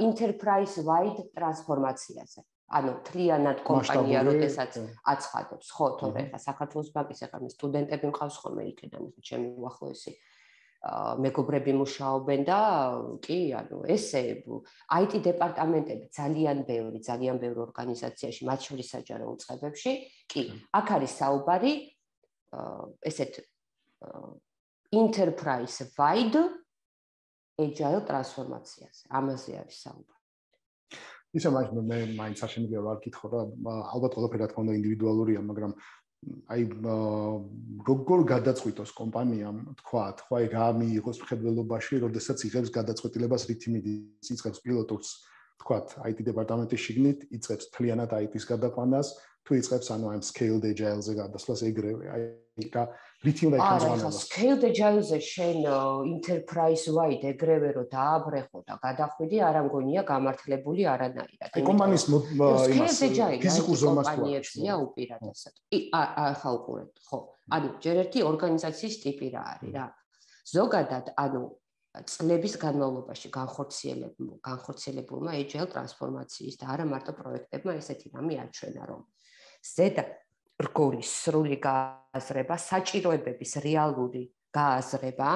enterprise wide ტრანსფორმაციაზე. ანუ თლიანად კომპანია როდესაც აცხადებს, ხო, თორე ახლა საქართველოს ბანკის ახლა მე სტუდენტები მყავს ხოლმე იქიდან, ჩემი უახლოესი მეგობრები მუშაობენ და კი, ანუ ესე აი ტი დეპარტამენტები ძალიან ბევრი, ძალიან ბევრი ორგანიზაციაში, მათ შორის საჯარო უწყებებში, კი, აქ არის საუბარი ესეთ enterprise wide agile ტრანსფორმაციაზე. ამაზე არის საუბარი. ისე მაგ მე მაინც არ შემიძლია ვარ კითხო რა, ალბათ ყველაფერი რა თქმა უნდა ინდივიდუალურია, მაგრამ აი როგორ გადაწყვიტოს კომპანიამ თქვათ, ხო აი რა მიიღოს მხედველობაში, როდესაც იღებს გადაწყვეტილებას რითი იწყებს პილოტურს, თქვათ, აი ტი დეპარტამენტის შიგნით იწყებს თლიანად აი ტის გადაყვანას, თუ იწყებს ანუ ამ scaled agile-ზე გადასვლას ეგრევე, აი რა რითი უნდა იქნას არა, ხა scaled agile-ზე შენ enterprise wide ეგრევე რო დააბრეხო და გადახვიდი, არ ამგონია გამართლებული არანაირად. აი კომპანიის იმას ფიზიკურ ზომას თუ კომპანიებია უპირატესად. ახლა უყურეთ, ხო. ანუ ჯერ ერთი ორგანიზაციის ტიპი რა არის რა. ზოგადად, ანუ წლების განმავლობაში განხორციელებულმა განხორციელებულმა agile ტრანსფორმაციის და არა მარტო პროექტებმა ესეთი რამე აჩვენა, რომ ზედა რგოლის სრული გააზრება, საჭიროებების რეალური გააზრება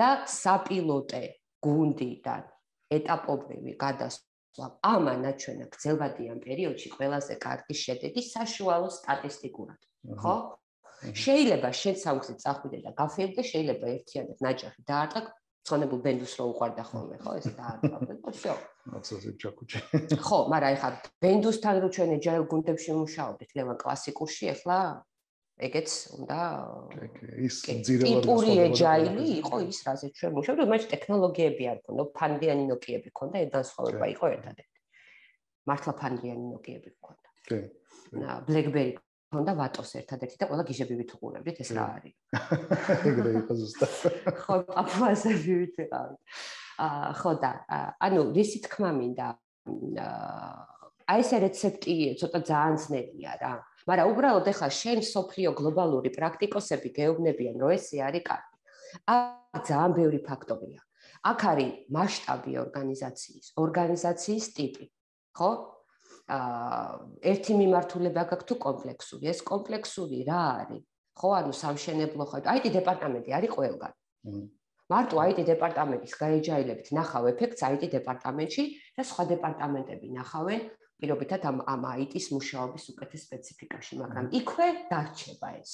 და საპილოტე გუნდიდან ეტაპობრივი გადასვლა ამან აჩვენა გრძელვადიან პერიოდში ყველაზე კარგი შედეგი საშუალო სტატისტიკურად, ხო? შეიძლება შენ სამგზით წახვიდე და გაფერდე, შეიძლება ერთიანად ნაჯახი დაარტყა, ცხონებულ ბენდუს რო უყარდა ხოლმე, ხო, ეს დაარტყავდა და всё. აცაზე ჩაკუჭე. ხო, მაგრამ ეხლა ბენდუსთან რო ჩვენ agile გუნდებში მუშაობდით, ლევან კლასიკურში, ეხლა ეგეც უნდა ის ძირეულად ტიპური agile იყო ის, რაზეც ჩვენ მუშაობთ, მაგრამ ტექნოლოგიები არ ქონდა, ფანდიანი ნოკიები ქონდა, ეს განსხვავება იყო ერთადერთი. მართლა ფანდიანი ნოკიები ქონდა. კი. BlackBerry ქონდა ვატოს ერთადერთი და ყველა გიჟები ვითუყურებდით, ეს რა არის? ეგრე იყო ზუსტად. ხო, აპლაზები ვიყავით. აა ხო და ანუ რისი თქმა მინდა აი ეს რეცეპტი ცოტა ძალიან ძნელია რა. მაგრამ უბრალოდ ეხლა შენ სოფლიო გლობალური პრაქტიკოსები გეუბნებიან, რომ ესე არის კარგი. აქ ძალიან ბევრი ფაქტორია. აქ არის მასშტაბი ორგანიზაციის, ორგანიზაციის ტიპი, ხო? აა ერთი მიმართულება გაქვს თუ კომპლექსური. ეს კომპლექსური რა არის? ხო, ანუ სამშენებლო ხო, აი ტი დეპარტამენტი არის ყველგან. მარტო აი ტი დეპარტამენტის გაეჯაილებით ნახავ ეფექტს აი ტი დეპარტამენტში და სხვა დეპარტამენტები ნახავენ პირობითად ამ ამ აი ტის მუშაობის უკეთეს სპეციფიკაში, მაგრამ იქვე დარჩება ეს.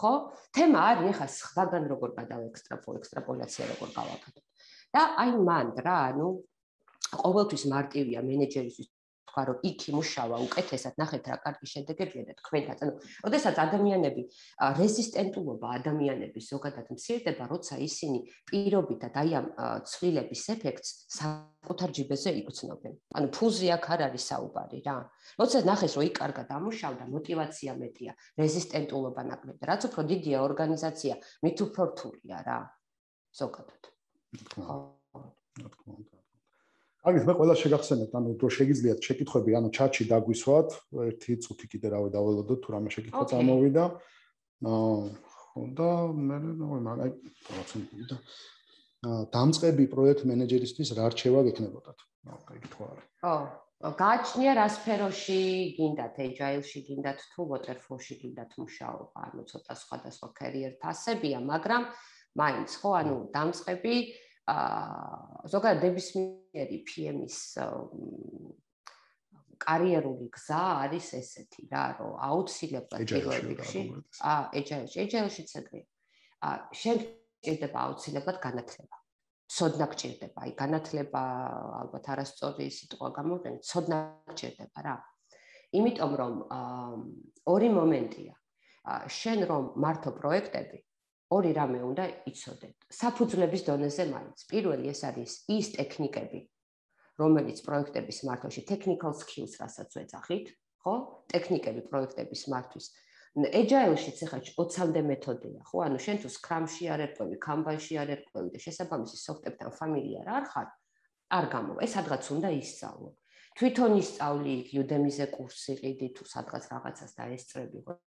ხო? თემა არის ეხა სხვაგან როგორ გადავექსტრაპოლ, ექსტრაპოლაცია როგორ გავაკეთებ. და აი მან რა, ანუ ყოველთვის მარტივია მენეჯერისთვის თქვა რომ იქ იმუშავა უკეთესად, ნახეთ რა კარგი შედეგებია და თქვენთან. ანუ, ოდესაც ადამიანები რეზისტენტულობა ადამიანების ზოგადად მცირდება, როცა ისინი პირობითად აი ამ ცვლილების ეფექტს საკუთარ ჯიბეზე იგრძნობენ. ანუ ფულზე აქ არ არის საუბარი რა. როცა ნახეს რომ იქ კარგად ამუშავდა, мотиваცია მეტია, რეზისტენტულობა ნაკლები. რაც უფრო დიდია ორგანიზაცია, მით უფრო რთულია რა. ზოგადად. ხო. აგეთ მე ყველა შეგახსენებთ, ანუ რო შეგიძლიათ შეკითხვები, ანუ ჩატში დაგვისვათ, ერთი წუთი კიდე რავი დაველოდოთ, თუ რამე შეკითხვა წამოვიდა. აა ხო და მე მაგ აი პროცენტი და დამწყები პროექტ მენეჯერისთვის რა რჩევა გექნებოდათ? ნუ კითხვა არის. ხო, გააჩნია რა სფეროში გინდათ, agile-ში გინდათ თუ waterfall-ში გინდათ მუშაობა, ანუ ცოტა სხვადასხვა career path-ებია, მაგრამ მაინც ხო, ანუ დამწყები აა ზოგადად ნებისმიერი პი ემ-ის კარიერული გზა არის ესეთი რა, რომ აუცილებლად პირველ რიგში აა agile-ში, agile-შიც ეგრეა. აა შენ გჭირდება აუცილებლად განათლება. ცოდნა გჭირდება, აი განათლება ალბათ არასწორი სიტყვა გამოვიყენე, ცოდნა გჭირდება რა. იმიტომ რომ ორი მომენტია. შენ რომ მართო პროექტები ორი რამე უნდა იცოდეთ. საფუძვლების დონეზე მაინც. პირველი ეს არის ის ტექნიკები, რომელიც პროექტების მართვაში technical skills რასაც ვეძახით, ხო? ტექნიკები პროექტების მართვის. Agile-შიც ახლა ოცამდე მეთოდია, ხო? ანუ შენ თუ Scrum-ში არ ერკვევი, Kanban-ში არ ერკვევი და შესაბამისი სოფტებთან ფამილიარ არ ხარ, არ გამოვა. ეს სადღაც უნდა ისწავლო. თვითონ ისწავლი იქ Udemy-ზე კურსი ყიდი თუ სადღაც რაღაცას დაესწრები,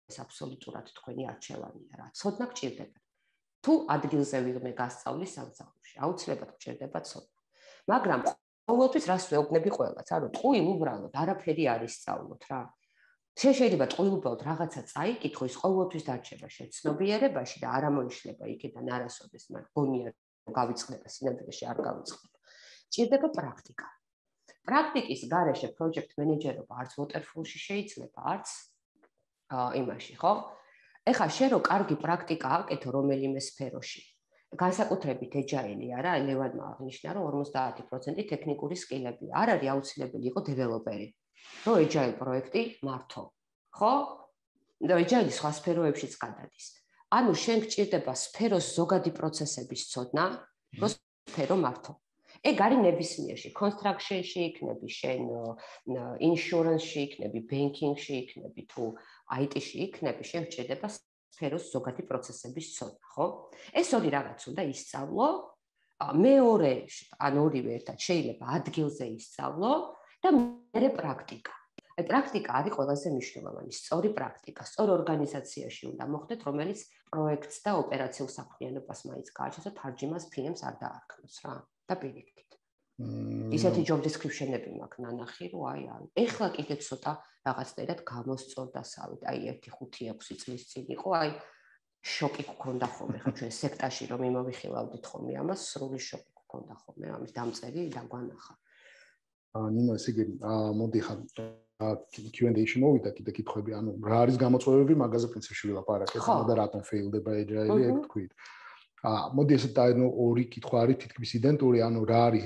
ეს აბსოლუტურად თქვენი არჩევანია რა. ცოდნა გჭირდება. თუ ადგილზე ვიღმე გასწავლის სამსახურში, აუცილებლად გჭირდება ცოდნა. მაგრამ ყოველთვის რას ვეუბნები ყველას, ანუ ტყუილ უბრალოდ არაფერი არ ისწავლოთ რა. შენ შეიძლება ტყუილ უბრალოდ რაღაცა წაიკითხო, ის ყოველთვის დარჩება შენ ცნობიერებაში და არ ამოიშლება იქიდან არასოდეს, მაგრამ გონია რომ გავიწყდება სინამდვილეში არ გავიწყდება. ჭირდება პრაქტიკა. პრაქტიკის გარეშე project manager-ობა არც waterfall-ში შეიძლება, არც იმაში, ხო? ეხლა შენ რო კარგი პრაქტიკა აკეთო რომელიმე სფეროში. განსაკუთრებით agile-ი არა, ლევანმა აღნიშნა რომ ორმოცდაათი პროცენტი ტექნიკური სკილებია. არ არის აუცილებელი იყო დეველოპერი. რო agile პროექტი მართო. ხო? და agile სხვა სფეროებშიც გადადის. ანუ შენ გჭირდება სფეროს ზოგადი პროცესების ცოდნა, რო სფერო მართო. ეგ არის ნებისმიერში, construction-ში იქნები, შენ insurance-ში იქნები, banking-ში იქნები, თუ I T-ში იქნები, შენ გჭირდება სფეროს ზოგადი პროცესების ცოდნა, ხო? ეს ორი რაღაც უნდა ისწავლო, მეორე ან ორივე ერთად შეიძლება ადგილზე ისწავლო და მეორე პრაქტიკა. აი პრაქტიკა არის ყველაზე მნიშვნელოვანი, სწორი პრაქტიკა, სწორ ორგანიზაციაში უნდა მოხდეთ, რომელიც პროექტს და ოპერაციულ საქმიანობას მაინც გააჩნს და თარჯიმას ფილმს არ დაარქმევს რა. და პირიქით. ისეთი job description-ები მაქვს ნანახი, რომ აი არ. ეხლა კიდე ცოტა რაღაცნაირად გამოსწორდასავით. აი ერთი ხუთი ექვსი წლის წინ იყო, აი შოკი გქონდა ხოლმე, ხო ჩვენ სექტაში რომ იმოვიხილავდით ხოლმე ამას, სრული შოკი გქონდა ხოლმე ამის დამწერი და გვანახა. აა ნინო ესე იგი, მოდი ხა Q and A-ში მოვიდა კიდე კითხვები, ანუ რა არის გამოწვევები, მაგაზე პრინციპში ვილაპარაკეთ და რატომ failდება agile-ი, ეგ თქვით. აა მოდი ესე დაინო ორი კითხვა არის თითქმის იდენტური, ანუ რა არის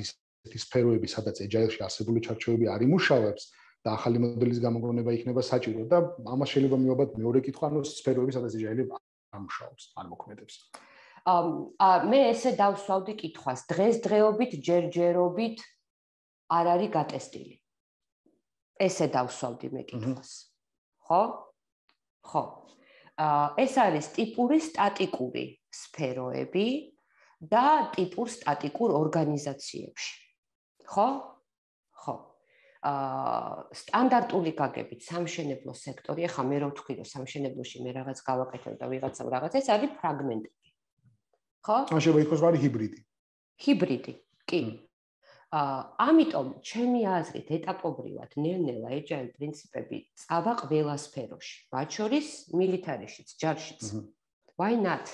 ისეთი სფეროები, სადაც agile-ში არსებული ჩარჩოები არ იმუშავებს და ახალი მოდელის გამოგონება იქნება საჭირო და ამას შეიძლება მივაბად მეორე კითხვა, ანუ სფეროები, სადაც agile-ი არ მუშაობს, არ მოქმედებს. აა მე ესე დავსვავდი კითხვას, დღესდღეობით, ჯერჯერობით არ არის გატესტილი. ესე დავსვავდი მე კითხვას. ხო? ხო. აა ეს არის ტიპური სტატიკური სფეროები და ტიპურ სტატიკურ ორგანიზაციებში. ხო? ხო. აა სტანდარტული გაგებით სამშენებლო სექტორი, ახლა მე რო ვთქვი, რომ სამშენებლოში მე რაღაც გავაკეთებ და ვიღაცამ რაღაც, ეს არის ფრაგმენტები. ხო? ან შეიძლება იყოს ვარი ჰიბრიდი. ჰიბრიდი, კი. აა ამიტომ ჩემი აზრით ეტაპობრივად ნელ-ნელა agile პრინციპები წავა ყველა სფეროში, მათ შორის მილიტარიშიც, ჯარშიც. Why not?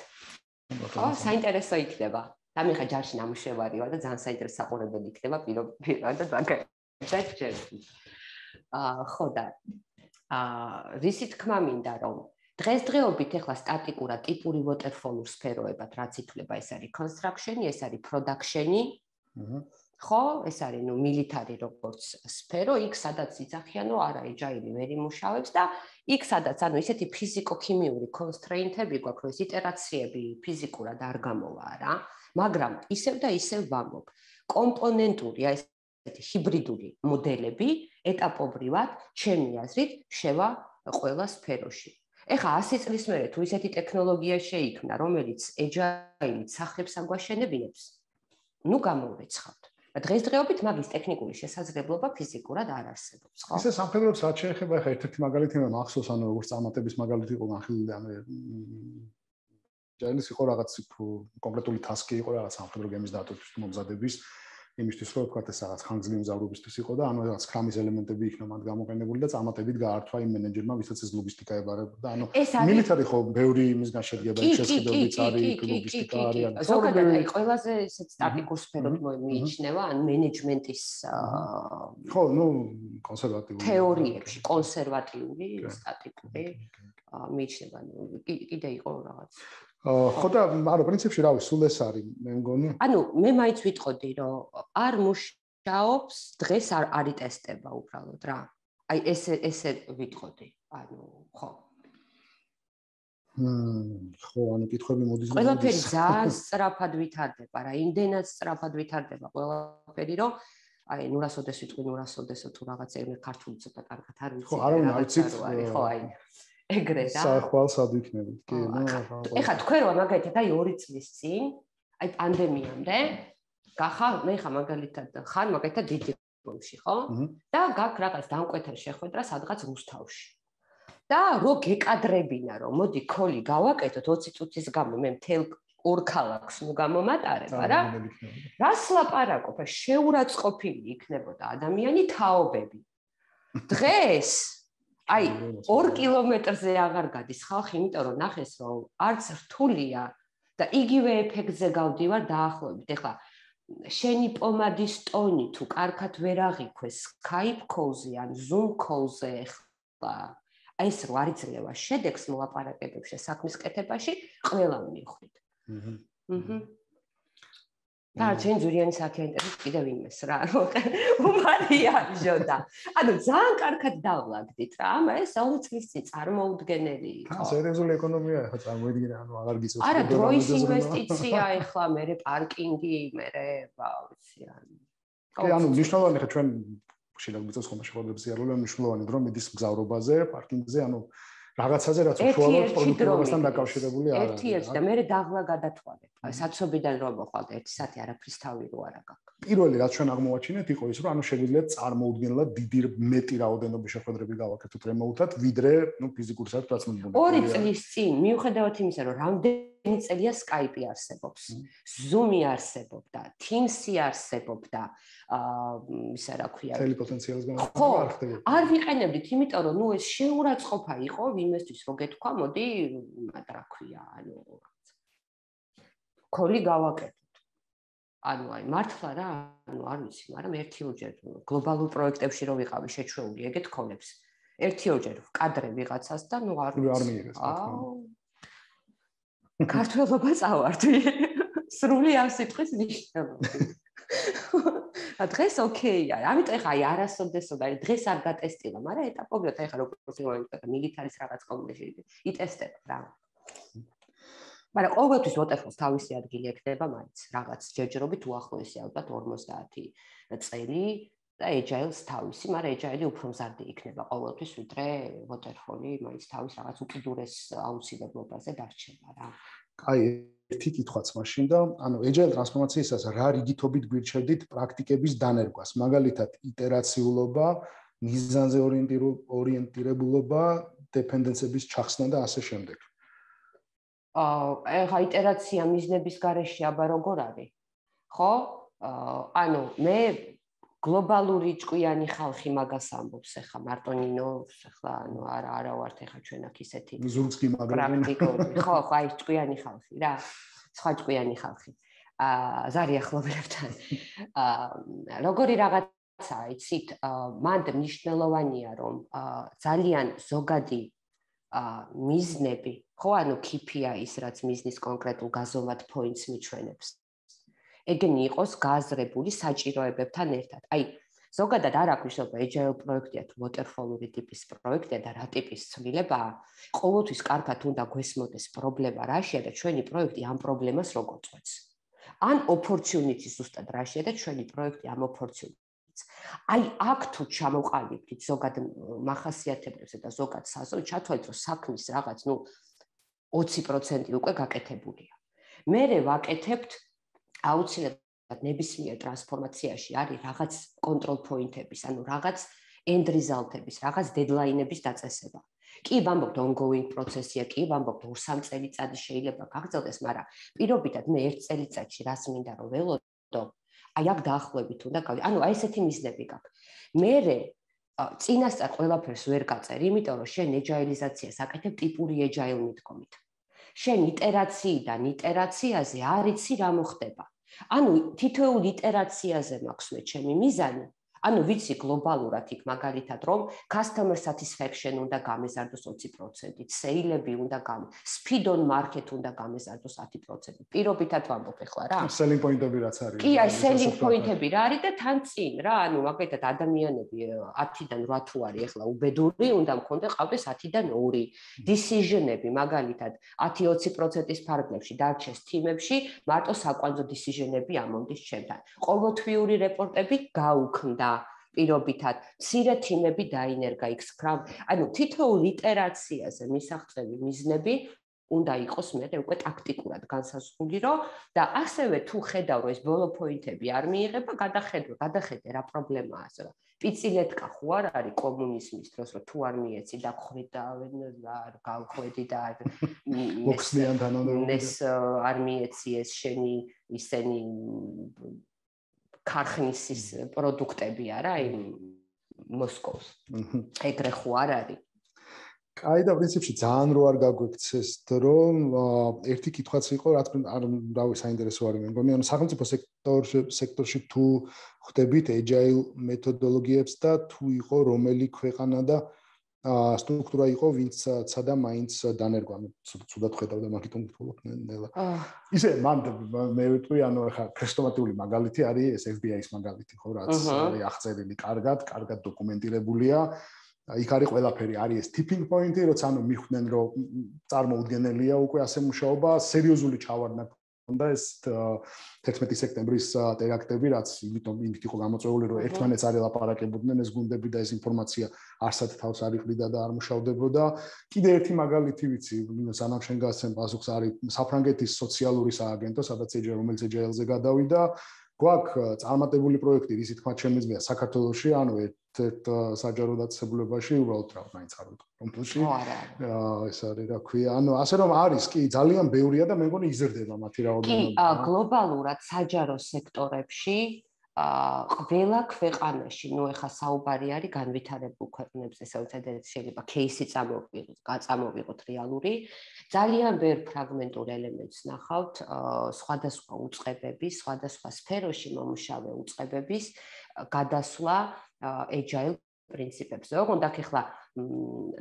ხო, საინტერესო იქნება. და მე ხა ჯარში ნამუშევარი ვარ და ძალიან საინტერესო საყურებელი იქნება პირობად მაგალითად ჯერში. აა ხო და აა რისი თქმა მინდა რომ დღესდღეობით ეხლა სტატიკურად ტიპური waterfall-ურ სფეროებად რაც ითვლება, ეს არის construction-ი, ეს არის production-ი. ხო, ეს არის ნუ მილიტარი როგორც სფერო, იქ სადაც იძახიან, რომ არა agile-ი ვერ იმუშავებს და იქ სადაც ანუ ისეთი ფიზიკო-ქიმიური constraint-ები გვაქვს, რომ ეს იტერაციები ფიზიკურად არ გამოვა რა, მაგრამ ისევ და ისევ ვამბობ, კომპონენტური აი ესეთი ჰიბრიდული მოდელები ეტაპობრივად, ჩემი აზრით, შევა ყველა სფეროში. ეხლა ასი წლის მერე თუ ისეთი ტექნოლოგია შეიქმნა, რომელიც agile-ით სახლებს აგვაშენებინებს, ნუ გამოვრეცხავთ. დღესდღეობით მაგის ტექნიკური შესაძლებლობა ფიზიკურად არ არსებობს, ხო? ისე სამხედროებს რაც შეეხება, ახლა ერთ-ერთი მაგალითი მე მახსოვს, ანუ როგორც წარმატების მაგალითი იყო განხილული, ანუ agile-ის იყო რაღაც კონკრეტული task-ი იყო რაღაც სამხედრო გემის დატვირთვის მომზადების იმისთვის რომ ვთქვათ ეს რაღაც ხანგრძლივი მზავრობისთვის იყო და ანუ რაღაც Scrum-ის ელემენტები იქნა მათ გამოყენებული და წარმატებით გაართვა იმ მენეჯერმა, ვისაც ეს ლოგისტიკა ებარებოდა. ანუ მილიტარი ხო ბევრი იმისგან შედგება, შესაძლებლობიც არის, ლოგისტიკა არის. ზოგადად აი ყველაზე ესეთ სტატიკურ სფეროდ მიიჩნევა, ან მენეჯმენტის ხო, ნუ კონსერვატიული თეორიებში, კონსერვატიული, სტატიკური მიიჩნევა. კიდე იყო რაღაც ხო და არა პრინციპში რავი სულ ეს არის მე მგონი ანუ მე მაინც ვიტყოდი რომ არ მუშაობს დღეს არ არის ტესტება უბრალოდ რა აი ესე ესე ვიტყოდი ანუ ხო მმ ხო ანუ კითხვები მოდის ყველაფერი ძალიან სწრაფად ვითარდება რა იმდენად სწრაფად ვითარდება ყველაფერი რომ აი ნურასოდეს ვიტყვი ნურასოდესო თუ რაღაცა მე ქართული ცოტა კარგად არ ვიცი ხო არ უნდა ვიცით ხო აი ეგრე რა. სახვალ სად ვიქნებით? კი, ნუ ეხლა თქვენ რა მაგალითად აი ორი წლის წინ, აი პანდემიამდე, გახარ მე ხა მაგალითად ხარ მაგალითად დიდიბონში, ხო? და გაქ რაღაც დამკვეთა შეხვედრა სადღაც რუსთავში. და რო გეკადრებინა რომ მოდი კოლი გავაკეთოთ ოცი წუთის გამო მე მთელ ორ ქალაქს ნუ გამომატარება რა. რას ლაპარაკობ? შეურაცხყოფილი იქნებოდა ადამიანი თაობები. დღეს აი ორ კილომეტრზე აღარ გადის ხალხი, იმიტომ რომ ნახეს რომ არც რთულია და იგივე ეფექტზე გავდივარ დაახლოებით. ეხლა შენი პომადის ტონი თუ კარგად ვერ აღიქვეს Skype call-ზე ან Zoom call-ზე ეხლა ეს რო არ იძლევა შედეგს მოლაპარაკებებში საქმის კეთებაში, ყველა მივხვდით. აჰა. აჰა. და ჩვენ ზურიანი საქე ინტერესს კიდევ იმეს რა უმარიაჟო და ანუ ძალიან კარგად დავლაგდით რა ამ ეს ორი წლის წინ წარმოუდგენელი იყო. ხო, სერიოზული ეკონომია ახლა წარმოიდგინე, ანუ აღარ გიწევს. არა, დროის ინვესტიცია ახლა მერე პარკინგი, მერე ვიცი ანუ. კი, ანუ მნიშვნელოვანი ხა ჩვენ შეიძლება მიწოს ხომ შეხვედრებზე არული, მნიშვნელოვანი დრო მიდის მგზავრობაზე, პარკინგზე, ანუ რაღაცაზე რაც უშუალოდ პროდუქტივობასთან დაკავშირებული არ არის. ერთი-ერთი და მე დაღლა გადათვალე. საცობიდან რომ მოხვალ ერთი საათი არაფრის თავი რო არა გაქვს. პირველი რაც ჩვენ აღმოვაჩინეთ იყო ის, რომ ანუ შეგვიძლია წარმოუდგენლად დიდი მეტი რაოდენობის შეხვედრები გავაკეთოთ რემოუთად, ვიდრე, ნუ ფიზიკურ საერთოდ რაც მომბუნდა. ორი წლის წინ, მიუხედავად იმისა, რომ რამდენი წელია Skype არსებობს, Zoom-ი არსებობდა, Teams-ი არსებობდა, აა ისა რა ქვია, მთელი პოტენციალის განმარტება არ ხდებოდა. არ ვიყენებდით, იმიტომ რომ ნუ ეს შეურაცხყოფა იყო იმისთვის, რომ გეთქვა, მოდი, რა ქვია, ანუ კოლი გავაკეთოთ. ანუ აი მართლა რა, ანუ არ ვიცი, მაგრამ ერთი-ორჯერ გლობალურ პროექტებში რო ვიყავი შეჩვეული ეგეთ კოლებს. ერთი-ორჯერ ვკადრე ვიღაცას და ნუ არ არ მიიღეს. ქართველობა წავარდი. სრული ამ სიტყვის ნიშნულობით. და დღეს ოკეია. ამიტომ ეხა აი არასოდესოდ არის დღეს არ გატესტილა, მაგრამ ეტაპობრივად ეხა როგორც ვიყავი მილიტარის რაღაც კომპლექსში იტესტებ რა. მაგრამ ყოველთვის waterfall-ს თავისი ადგილი ექნება მაინც რაღაც ჯერჯერობით უახლოესი ალბათ ორმოცდაათი წელი და agile-ს თავისი, მაგრამ agile-ი უფრო მზარდი იქნება ყოველთვის ვიდრე waterfall-ი მაინც თავის რაღაც უკიდურეს აუცილებლობაზე დარჩება რა. აი ერთი კითხვაც მაშინ და ანუ agile ტრანსფორმაციისას რა რიგითობით გვირჩევდით პრაქტიკების დანერგვას, მაგალითად iterაციულობა, მიზანზე ორიენტირებულობა, დეპენდენცების ჩახსნა და ასე შემდეგ. აა ეხა იტერაცია მიზნების გარეშე აბა როგორ არის? ხო? ანუ მე გლობალური ჭკვიანი ხალხი მაგას ამბობს ეხა მარტო ნინოს ეხლა ანუ არა არა ვართ ეხა ჩვენ აქ ისეთი ზურგს გიმაგრებენ. პრაქტიკული ხო ხო აი ჭკვიანი ხალხი რა. სხვა ჭკვიანი ხალხი. აა ზარი ახლობლებთან. აა როგორი რაღაცაა იცით? მანდ მნიშვნელოვანია რომ ძალიან ზოგადი ა მიზნები, ხო, ანუ K P I-ის, რაც მიზნის კონკრეტულ გაზომვად points მიჩვენებს. ეგენი იყოს გააზრებული საჭიროებებთან ერთად. აი, ზოგადად არ აქვს მნიშვნელობა agile პროექტია თუ waterfall-ური ტიპის პროექტია და რა ტიპის ცვლილებაა. ყოველთვის კარგად უნდა გვესმოდეს პრობლემა რაშია და ჩვენი პროექტი ამ პრობლემას როგორ წვეთს. ან opportunity ზუსტად რაშია და ჩვენი პროექტი ამ opportunity აი აქ თუ ჩამოყალიბდით ზოგად მახასიათებლებზე და ზოგად საზოგადო ჩათვალეთ რომ საქმის რაღაც ნუ ოცი პროცენტი უკვე გაკეთებულია. მერე ვაკეთებთ აუცილებლად ნებისმიერ ტრანსფორმაციაში არის რაღაც კონტროლ პოინტების, ანუ რაღაც end result-ების, რაღაც deadline-ების დაწესება. კი ვამბობთ ongoing პროცესია, კი ვამბობთ ორ-სამ წელიწადი შეიძლება გაგრძელდეს, მაგრამ პირობითად მე ერთ წელიწადში რას მინდა რომ ველოდო აი აქ დაახლოებით უნდა გავი. ანუ აი ესეთი მიზნები გაქვს. მერე წინასწარ ყველაფერს ვერ გაწერ, იმიტომ რომ შენ ეჯაილიზაციას აკეთებ ტიპური ეჯაილ მიდგომით. შენ იტერაციიდან იტერაციაზე არ იცი რა მოხდება. ანუ თითოეულ იტერაციაზე მაქვს მე ჩემი მიზანი. ანუ ვიცი გლობალურად იქ მაგალითად რომ customer satisfaction უნდა გამეზარდოს ოცი პროცენტით, სეილები უნდა გამ, speed on market უნდა გამეზარდოს ათი პროცენტით. პირობითად ვამბობ ახლა რა. selling point-ები რაც არის. კი, აი selling point-ები რა არის და თან წინ რა, ანუ მაგალითად ადამიანები ათიდან რვა თუ არის ახლა უბედური, უნდა მქონდეს ყავდეს ათიდან ორი. decision-ები მაგალითად ათი ოცი პროცენტის ფარგლებში დარჩეს თიმებში, მარტო საკვანძო decision-ები ამონდის ჩემთან. ყოველთვიური რეპორტები გაუქმდა. პირობითად, მცირე თიმები დაინერგა იქ Scrum. ანუ თითოეულ იტერაციაზე მისაღწევი მიზნები უნდა იყოს მე უკვე ტაქტიკურად განსაზღვრული რომ და ასევე თუ ხედავ რომ ეს ბოლო პოინტები არ მიიღება, გადახედო, გადახედე რა პრობლემაა ასე. პიცილეთკა ხო არ არის კომუნიზმის დროს რომ თუ არ მიეცი და ხვი და არ გავხვედი და მოხსნიან თანამდებობები. ეს არ მიეცი ეს შენი ისენი ქარხნის პროდუქტები არა იმ მოსკოვს. ეგრე ხო არ არის. კაი და პრინციპში ძალიან რო არ გაგვექცეს დრო, ერთი კითხვაც იყო, რაც არ რავი საინტერესო არის მე მგონი, ანუ სახელმწიფო სექტორში სექტორში თუ ხვდებით agile მეთოდოლოგიებს და თუ იყო რომელი ქვეყანა და სტრუქტურა იყო, ვინც ცადა მაინც დანერგვა, ანუ ცუდად ხედავდა მაგითომ ვთქვათ ნელა. ისე მან მე ვიტყვი, ანუ ხა ქრესტომატიული მაგალითი არის ეს ეფ ბი აის მაგალითი, ხო, რაც არის აღწერილი კარგად, კარგად დოკუმენტირებულია. იქ არის ყველაფერი, არის ეს tipping point-ი, როცა ანუ მიხვდნენ, რომ წარმოუდგენელია უკვე ასე მუშაობა, სერიოზული ჩავარდნა და ეს თერთმეტი სექტემბრის ტერაქტები, რაც იმიტომ იმით იყო გამოწვეული, რომ ერთმანეთს არ ელაპარაკებოდნენ ეს გუნდები და ეს ინფორმაცია არსად თავს არ იყრიდა და არ მუშავდებოდა. კიდე ერთი მაგალითი ვიცი, სანამ შენ გასცემ პასუხს, არის საფრანგეთის სოციალური სააგენტო, სადაც ეჯე რომელიც ეჯ-ელ-ზე გადავიდა. გვაქვს წარმატებული პროექტი, რისი თქმა შემიძლია საქართველოში, ანუ ერთ-ერთ საჯარო დაწესებულებაში, უბრალოდ რა მაინც არ ვიტყვი კონკრეტულად. აა ეს არის რა ქვია, ანუ ასე რომ არის, კი, ძალიან ბევრია და მე მგონი იზრდება მათი რაოდენობა. კი, გლობალურად საჯარო სექტორებში აა ყველა ქვეყანაში, ნუ ეხა საუბარი არის განვითარებულ ქვეყნებზე, საერთოდ შეიძლება кейსი წამოვიღოთ, გაწამოვიღოთ რეალური. ძალიან ბევრ ფრაგმენტულ ელემენტს ნახავთ სხვადასხვა უწყებების, სხვადასხვა სფეროში მომუშავე უწყებების გადასვლა agile პრინციპებზე. ოღონდ აქ ახლა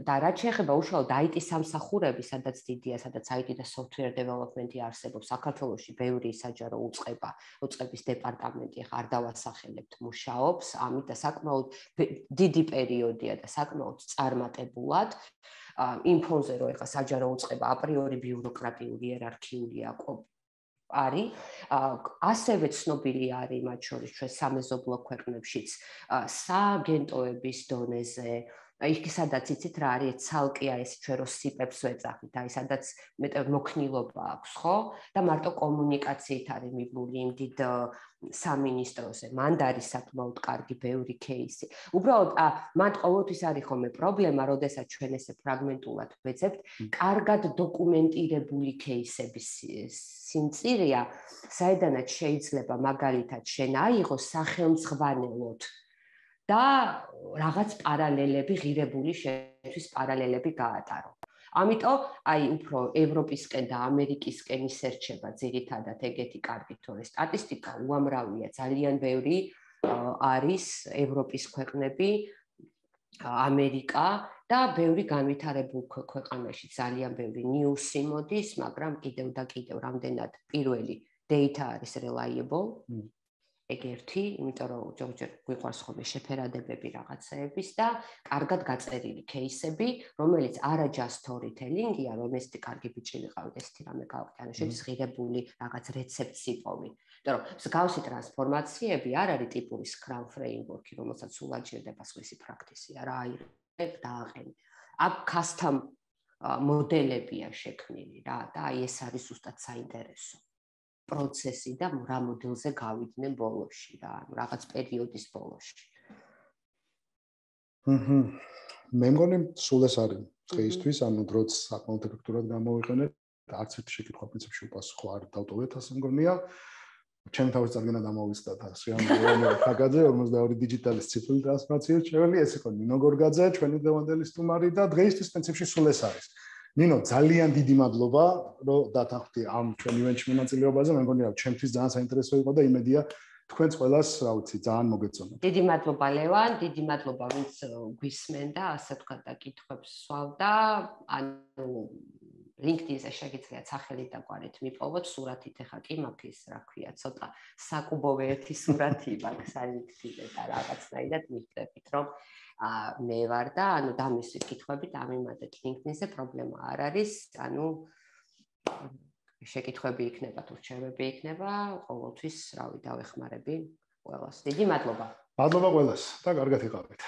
და რაც შეეხება უშუალოდ აი ტი სამსახურები, სადაც დიდია, სადაც აი ტი და software development-ი არსებობს, საქართველოში ბევრი საჯარო უწყება, უწყების დეპარტამენტი ახლა არ დავასახელებთ, მუშაობს, ამით და საკმაოდ დიდი პერიოდია და საკმაოდ წარმატებულად. იმ ფონზე, რომ ახლა საჯარო უწყება აპრიორი ბიუროკრატიული იერარქიული არის, ასევე ცნობილი არის მათ შორის ჩვენ სამეზობლო ქვეყნებშიც სააგენტოების დონეზე, იქ სადაც იცით რა არის ცალკე აი ეს ჩვენ რო სიპებს ვეძახით, აი სადაც მეტად მოქნილობა აქვს, ხო? და მარტო კომუნიკაციით არის მიბლული იმ დიდ სამინისტროზე. მანდ არის საკმაოდ კარგი ბევრი кейსი. უბრალოდ მანდ ყოველთვის არის ხოლმე პრობლემა, როდესაც ჩვენ ესე ფრაგმენტულად ვეძებთ, კარგად დოკუმენტირებული кейსების სიმწირეა, საიდანაც შეიძლება მაგალითად შენ აიღო სახელმძღვანელოდ და რაღაც პარალელები, ღირებული შეთვის პარალელები გაატარო. ამიტომ აი უფრო ევროპისკენ და ამერიკისკენ ისერჩება ძირითადად ეგეთი კარგი თორე სტატისტიკა უამრავია, ძალიან ბევრი არის ევროპის ქვეყნები, ამერიკა და ბევრი განვითარებულ ქვეყანაში ძალიან ბევრი ნიუსი მოდის, მაგრამ კიდევ და კიდევ რამდენად პირველი data არის reliable. ეგ ერთი, იმიტომ რომ ჯერ გვიყვარს ხოლმე შეფერადებები რაღაცეების და კარგად გაწერილი кейსები, რომელიც არა just storytelling-ია, რომ ეს კარგი ბიჭი ვიყავით, ესეთი რამე გავაკეთე, ანუ შედის ღირებული რაღაც რეცეპტს იპოვი. იმიტომ რომ მსგავსი ტრანსფორმაციები არ არის ტიპური Scrum framework-ი, რომელსაც სულ აჭირდება სხვისი პრაქტიკა, რა აიღებ და აყენე. აქ custom მოდელებია შექმნილი რა და აი ეს არის ზუსტად საინტერესო. პროცესი და რა მოდელზე გავიდნენ ბოლოში რა, რაღაც პერიოდის ბოლოში. აჰა. მე მგონი სულ ეს არის დღეისთვის, ანუ დროც საკმაოდ ეფექტურად გამოვიყენეთ, არც ერთი შეკითხვა პრინციპში უპასუხო არ დავტოვეთ, ასე მგონია. ჩემი თავის წარგენა დამოვიწყდათ ასე რამე ფაგაძე ორმოცდაორი დიჯიტალის ციფრული ტრანსფორმაციის ჩვენი ეს იყო ნინო გორგაძე, ჩვენი დღევანდელი სტუმარი და დღეისთვის პრინციპში სულ ეს არის. ნინო, ძალიან დიდი მადლობა, რომ დათანხმდი ამ ჩვენ ივენტში მონაწილეობაზე. მე მგონი რა, ჩემთვის ძალიან საინტერესო იყო და იმედია თქვენს ყველას, რა ვიცი, ძალიან მოგეწონათ. დიდი მადლობა ლევან, დიდი მადლობა ვინც გვისმენდა, ასე თქვა და კითხვებს სვავდა. ანუ LinkedIn-ზე შეგიძლიათ სახელი და გვარით მიპოვოთ სურათით, ეხა კი მაქვს ის, რა ქვია, ცოტა საკუბოვე ერთი სურათი მაქვს LinkedIn-ზე და რაღაცნაირად მიხვდებით, რომ მე ვარ და ანუ დამისვით კითხვებით ამიმადეთ LinkedIn-ზე, პრობლემა არ არის, ანუ შეკითხვები იქნება თუ რჩევები იქნება, ყოველთვის, რავი, დავეხმარები ყველას. დიდი მადლობა. მადლობა ყველას და კარგად იყავით.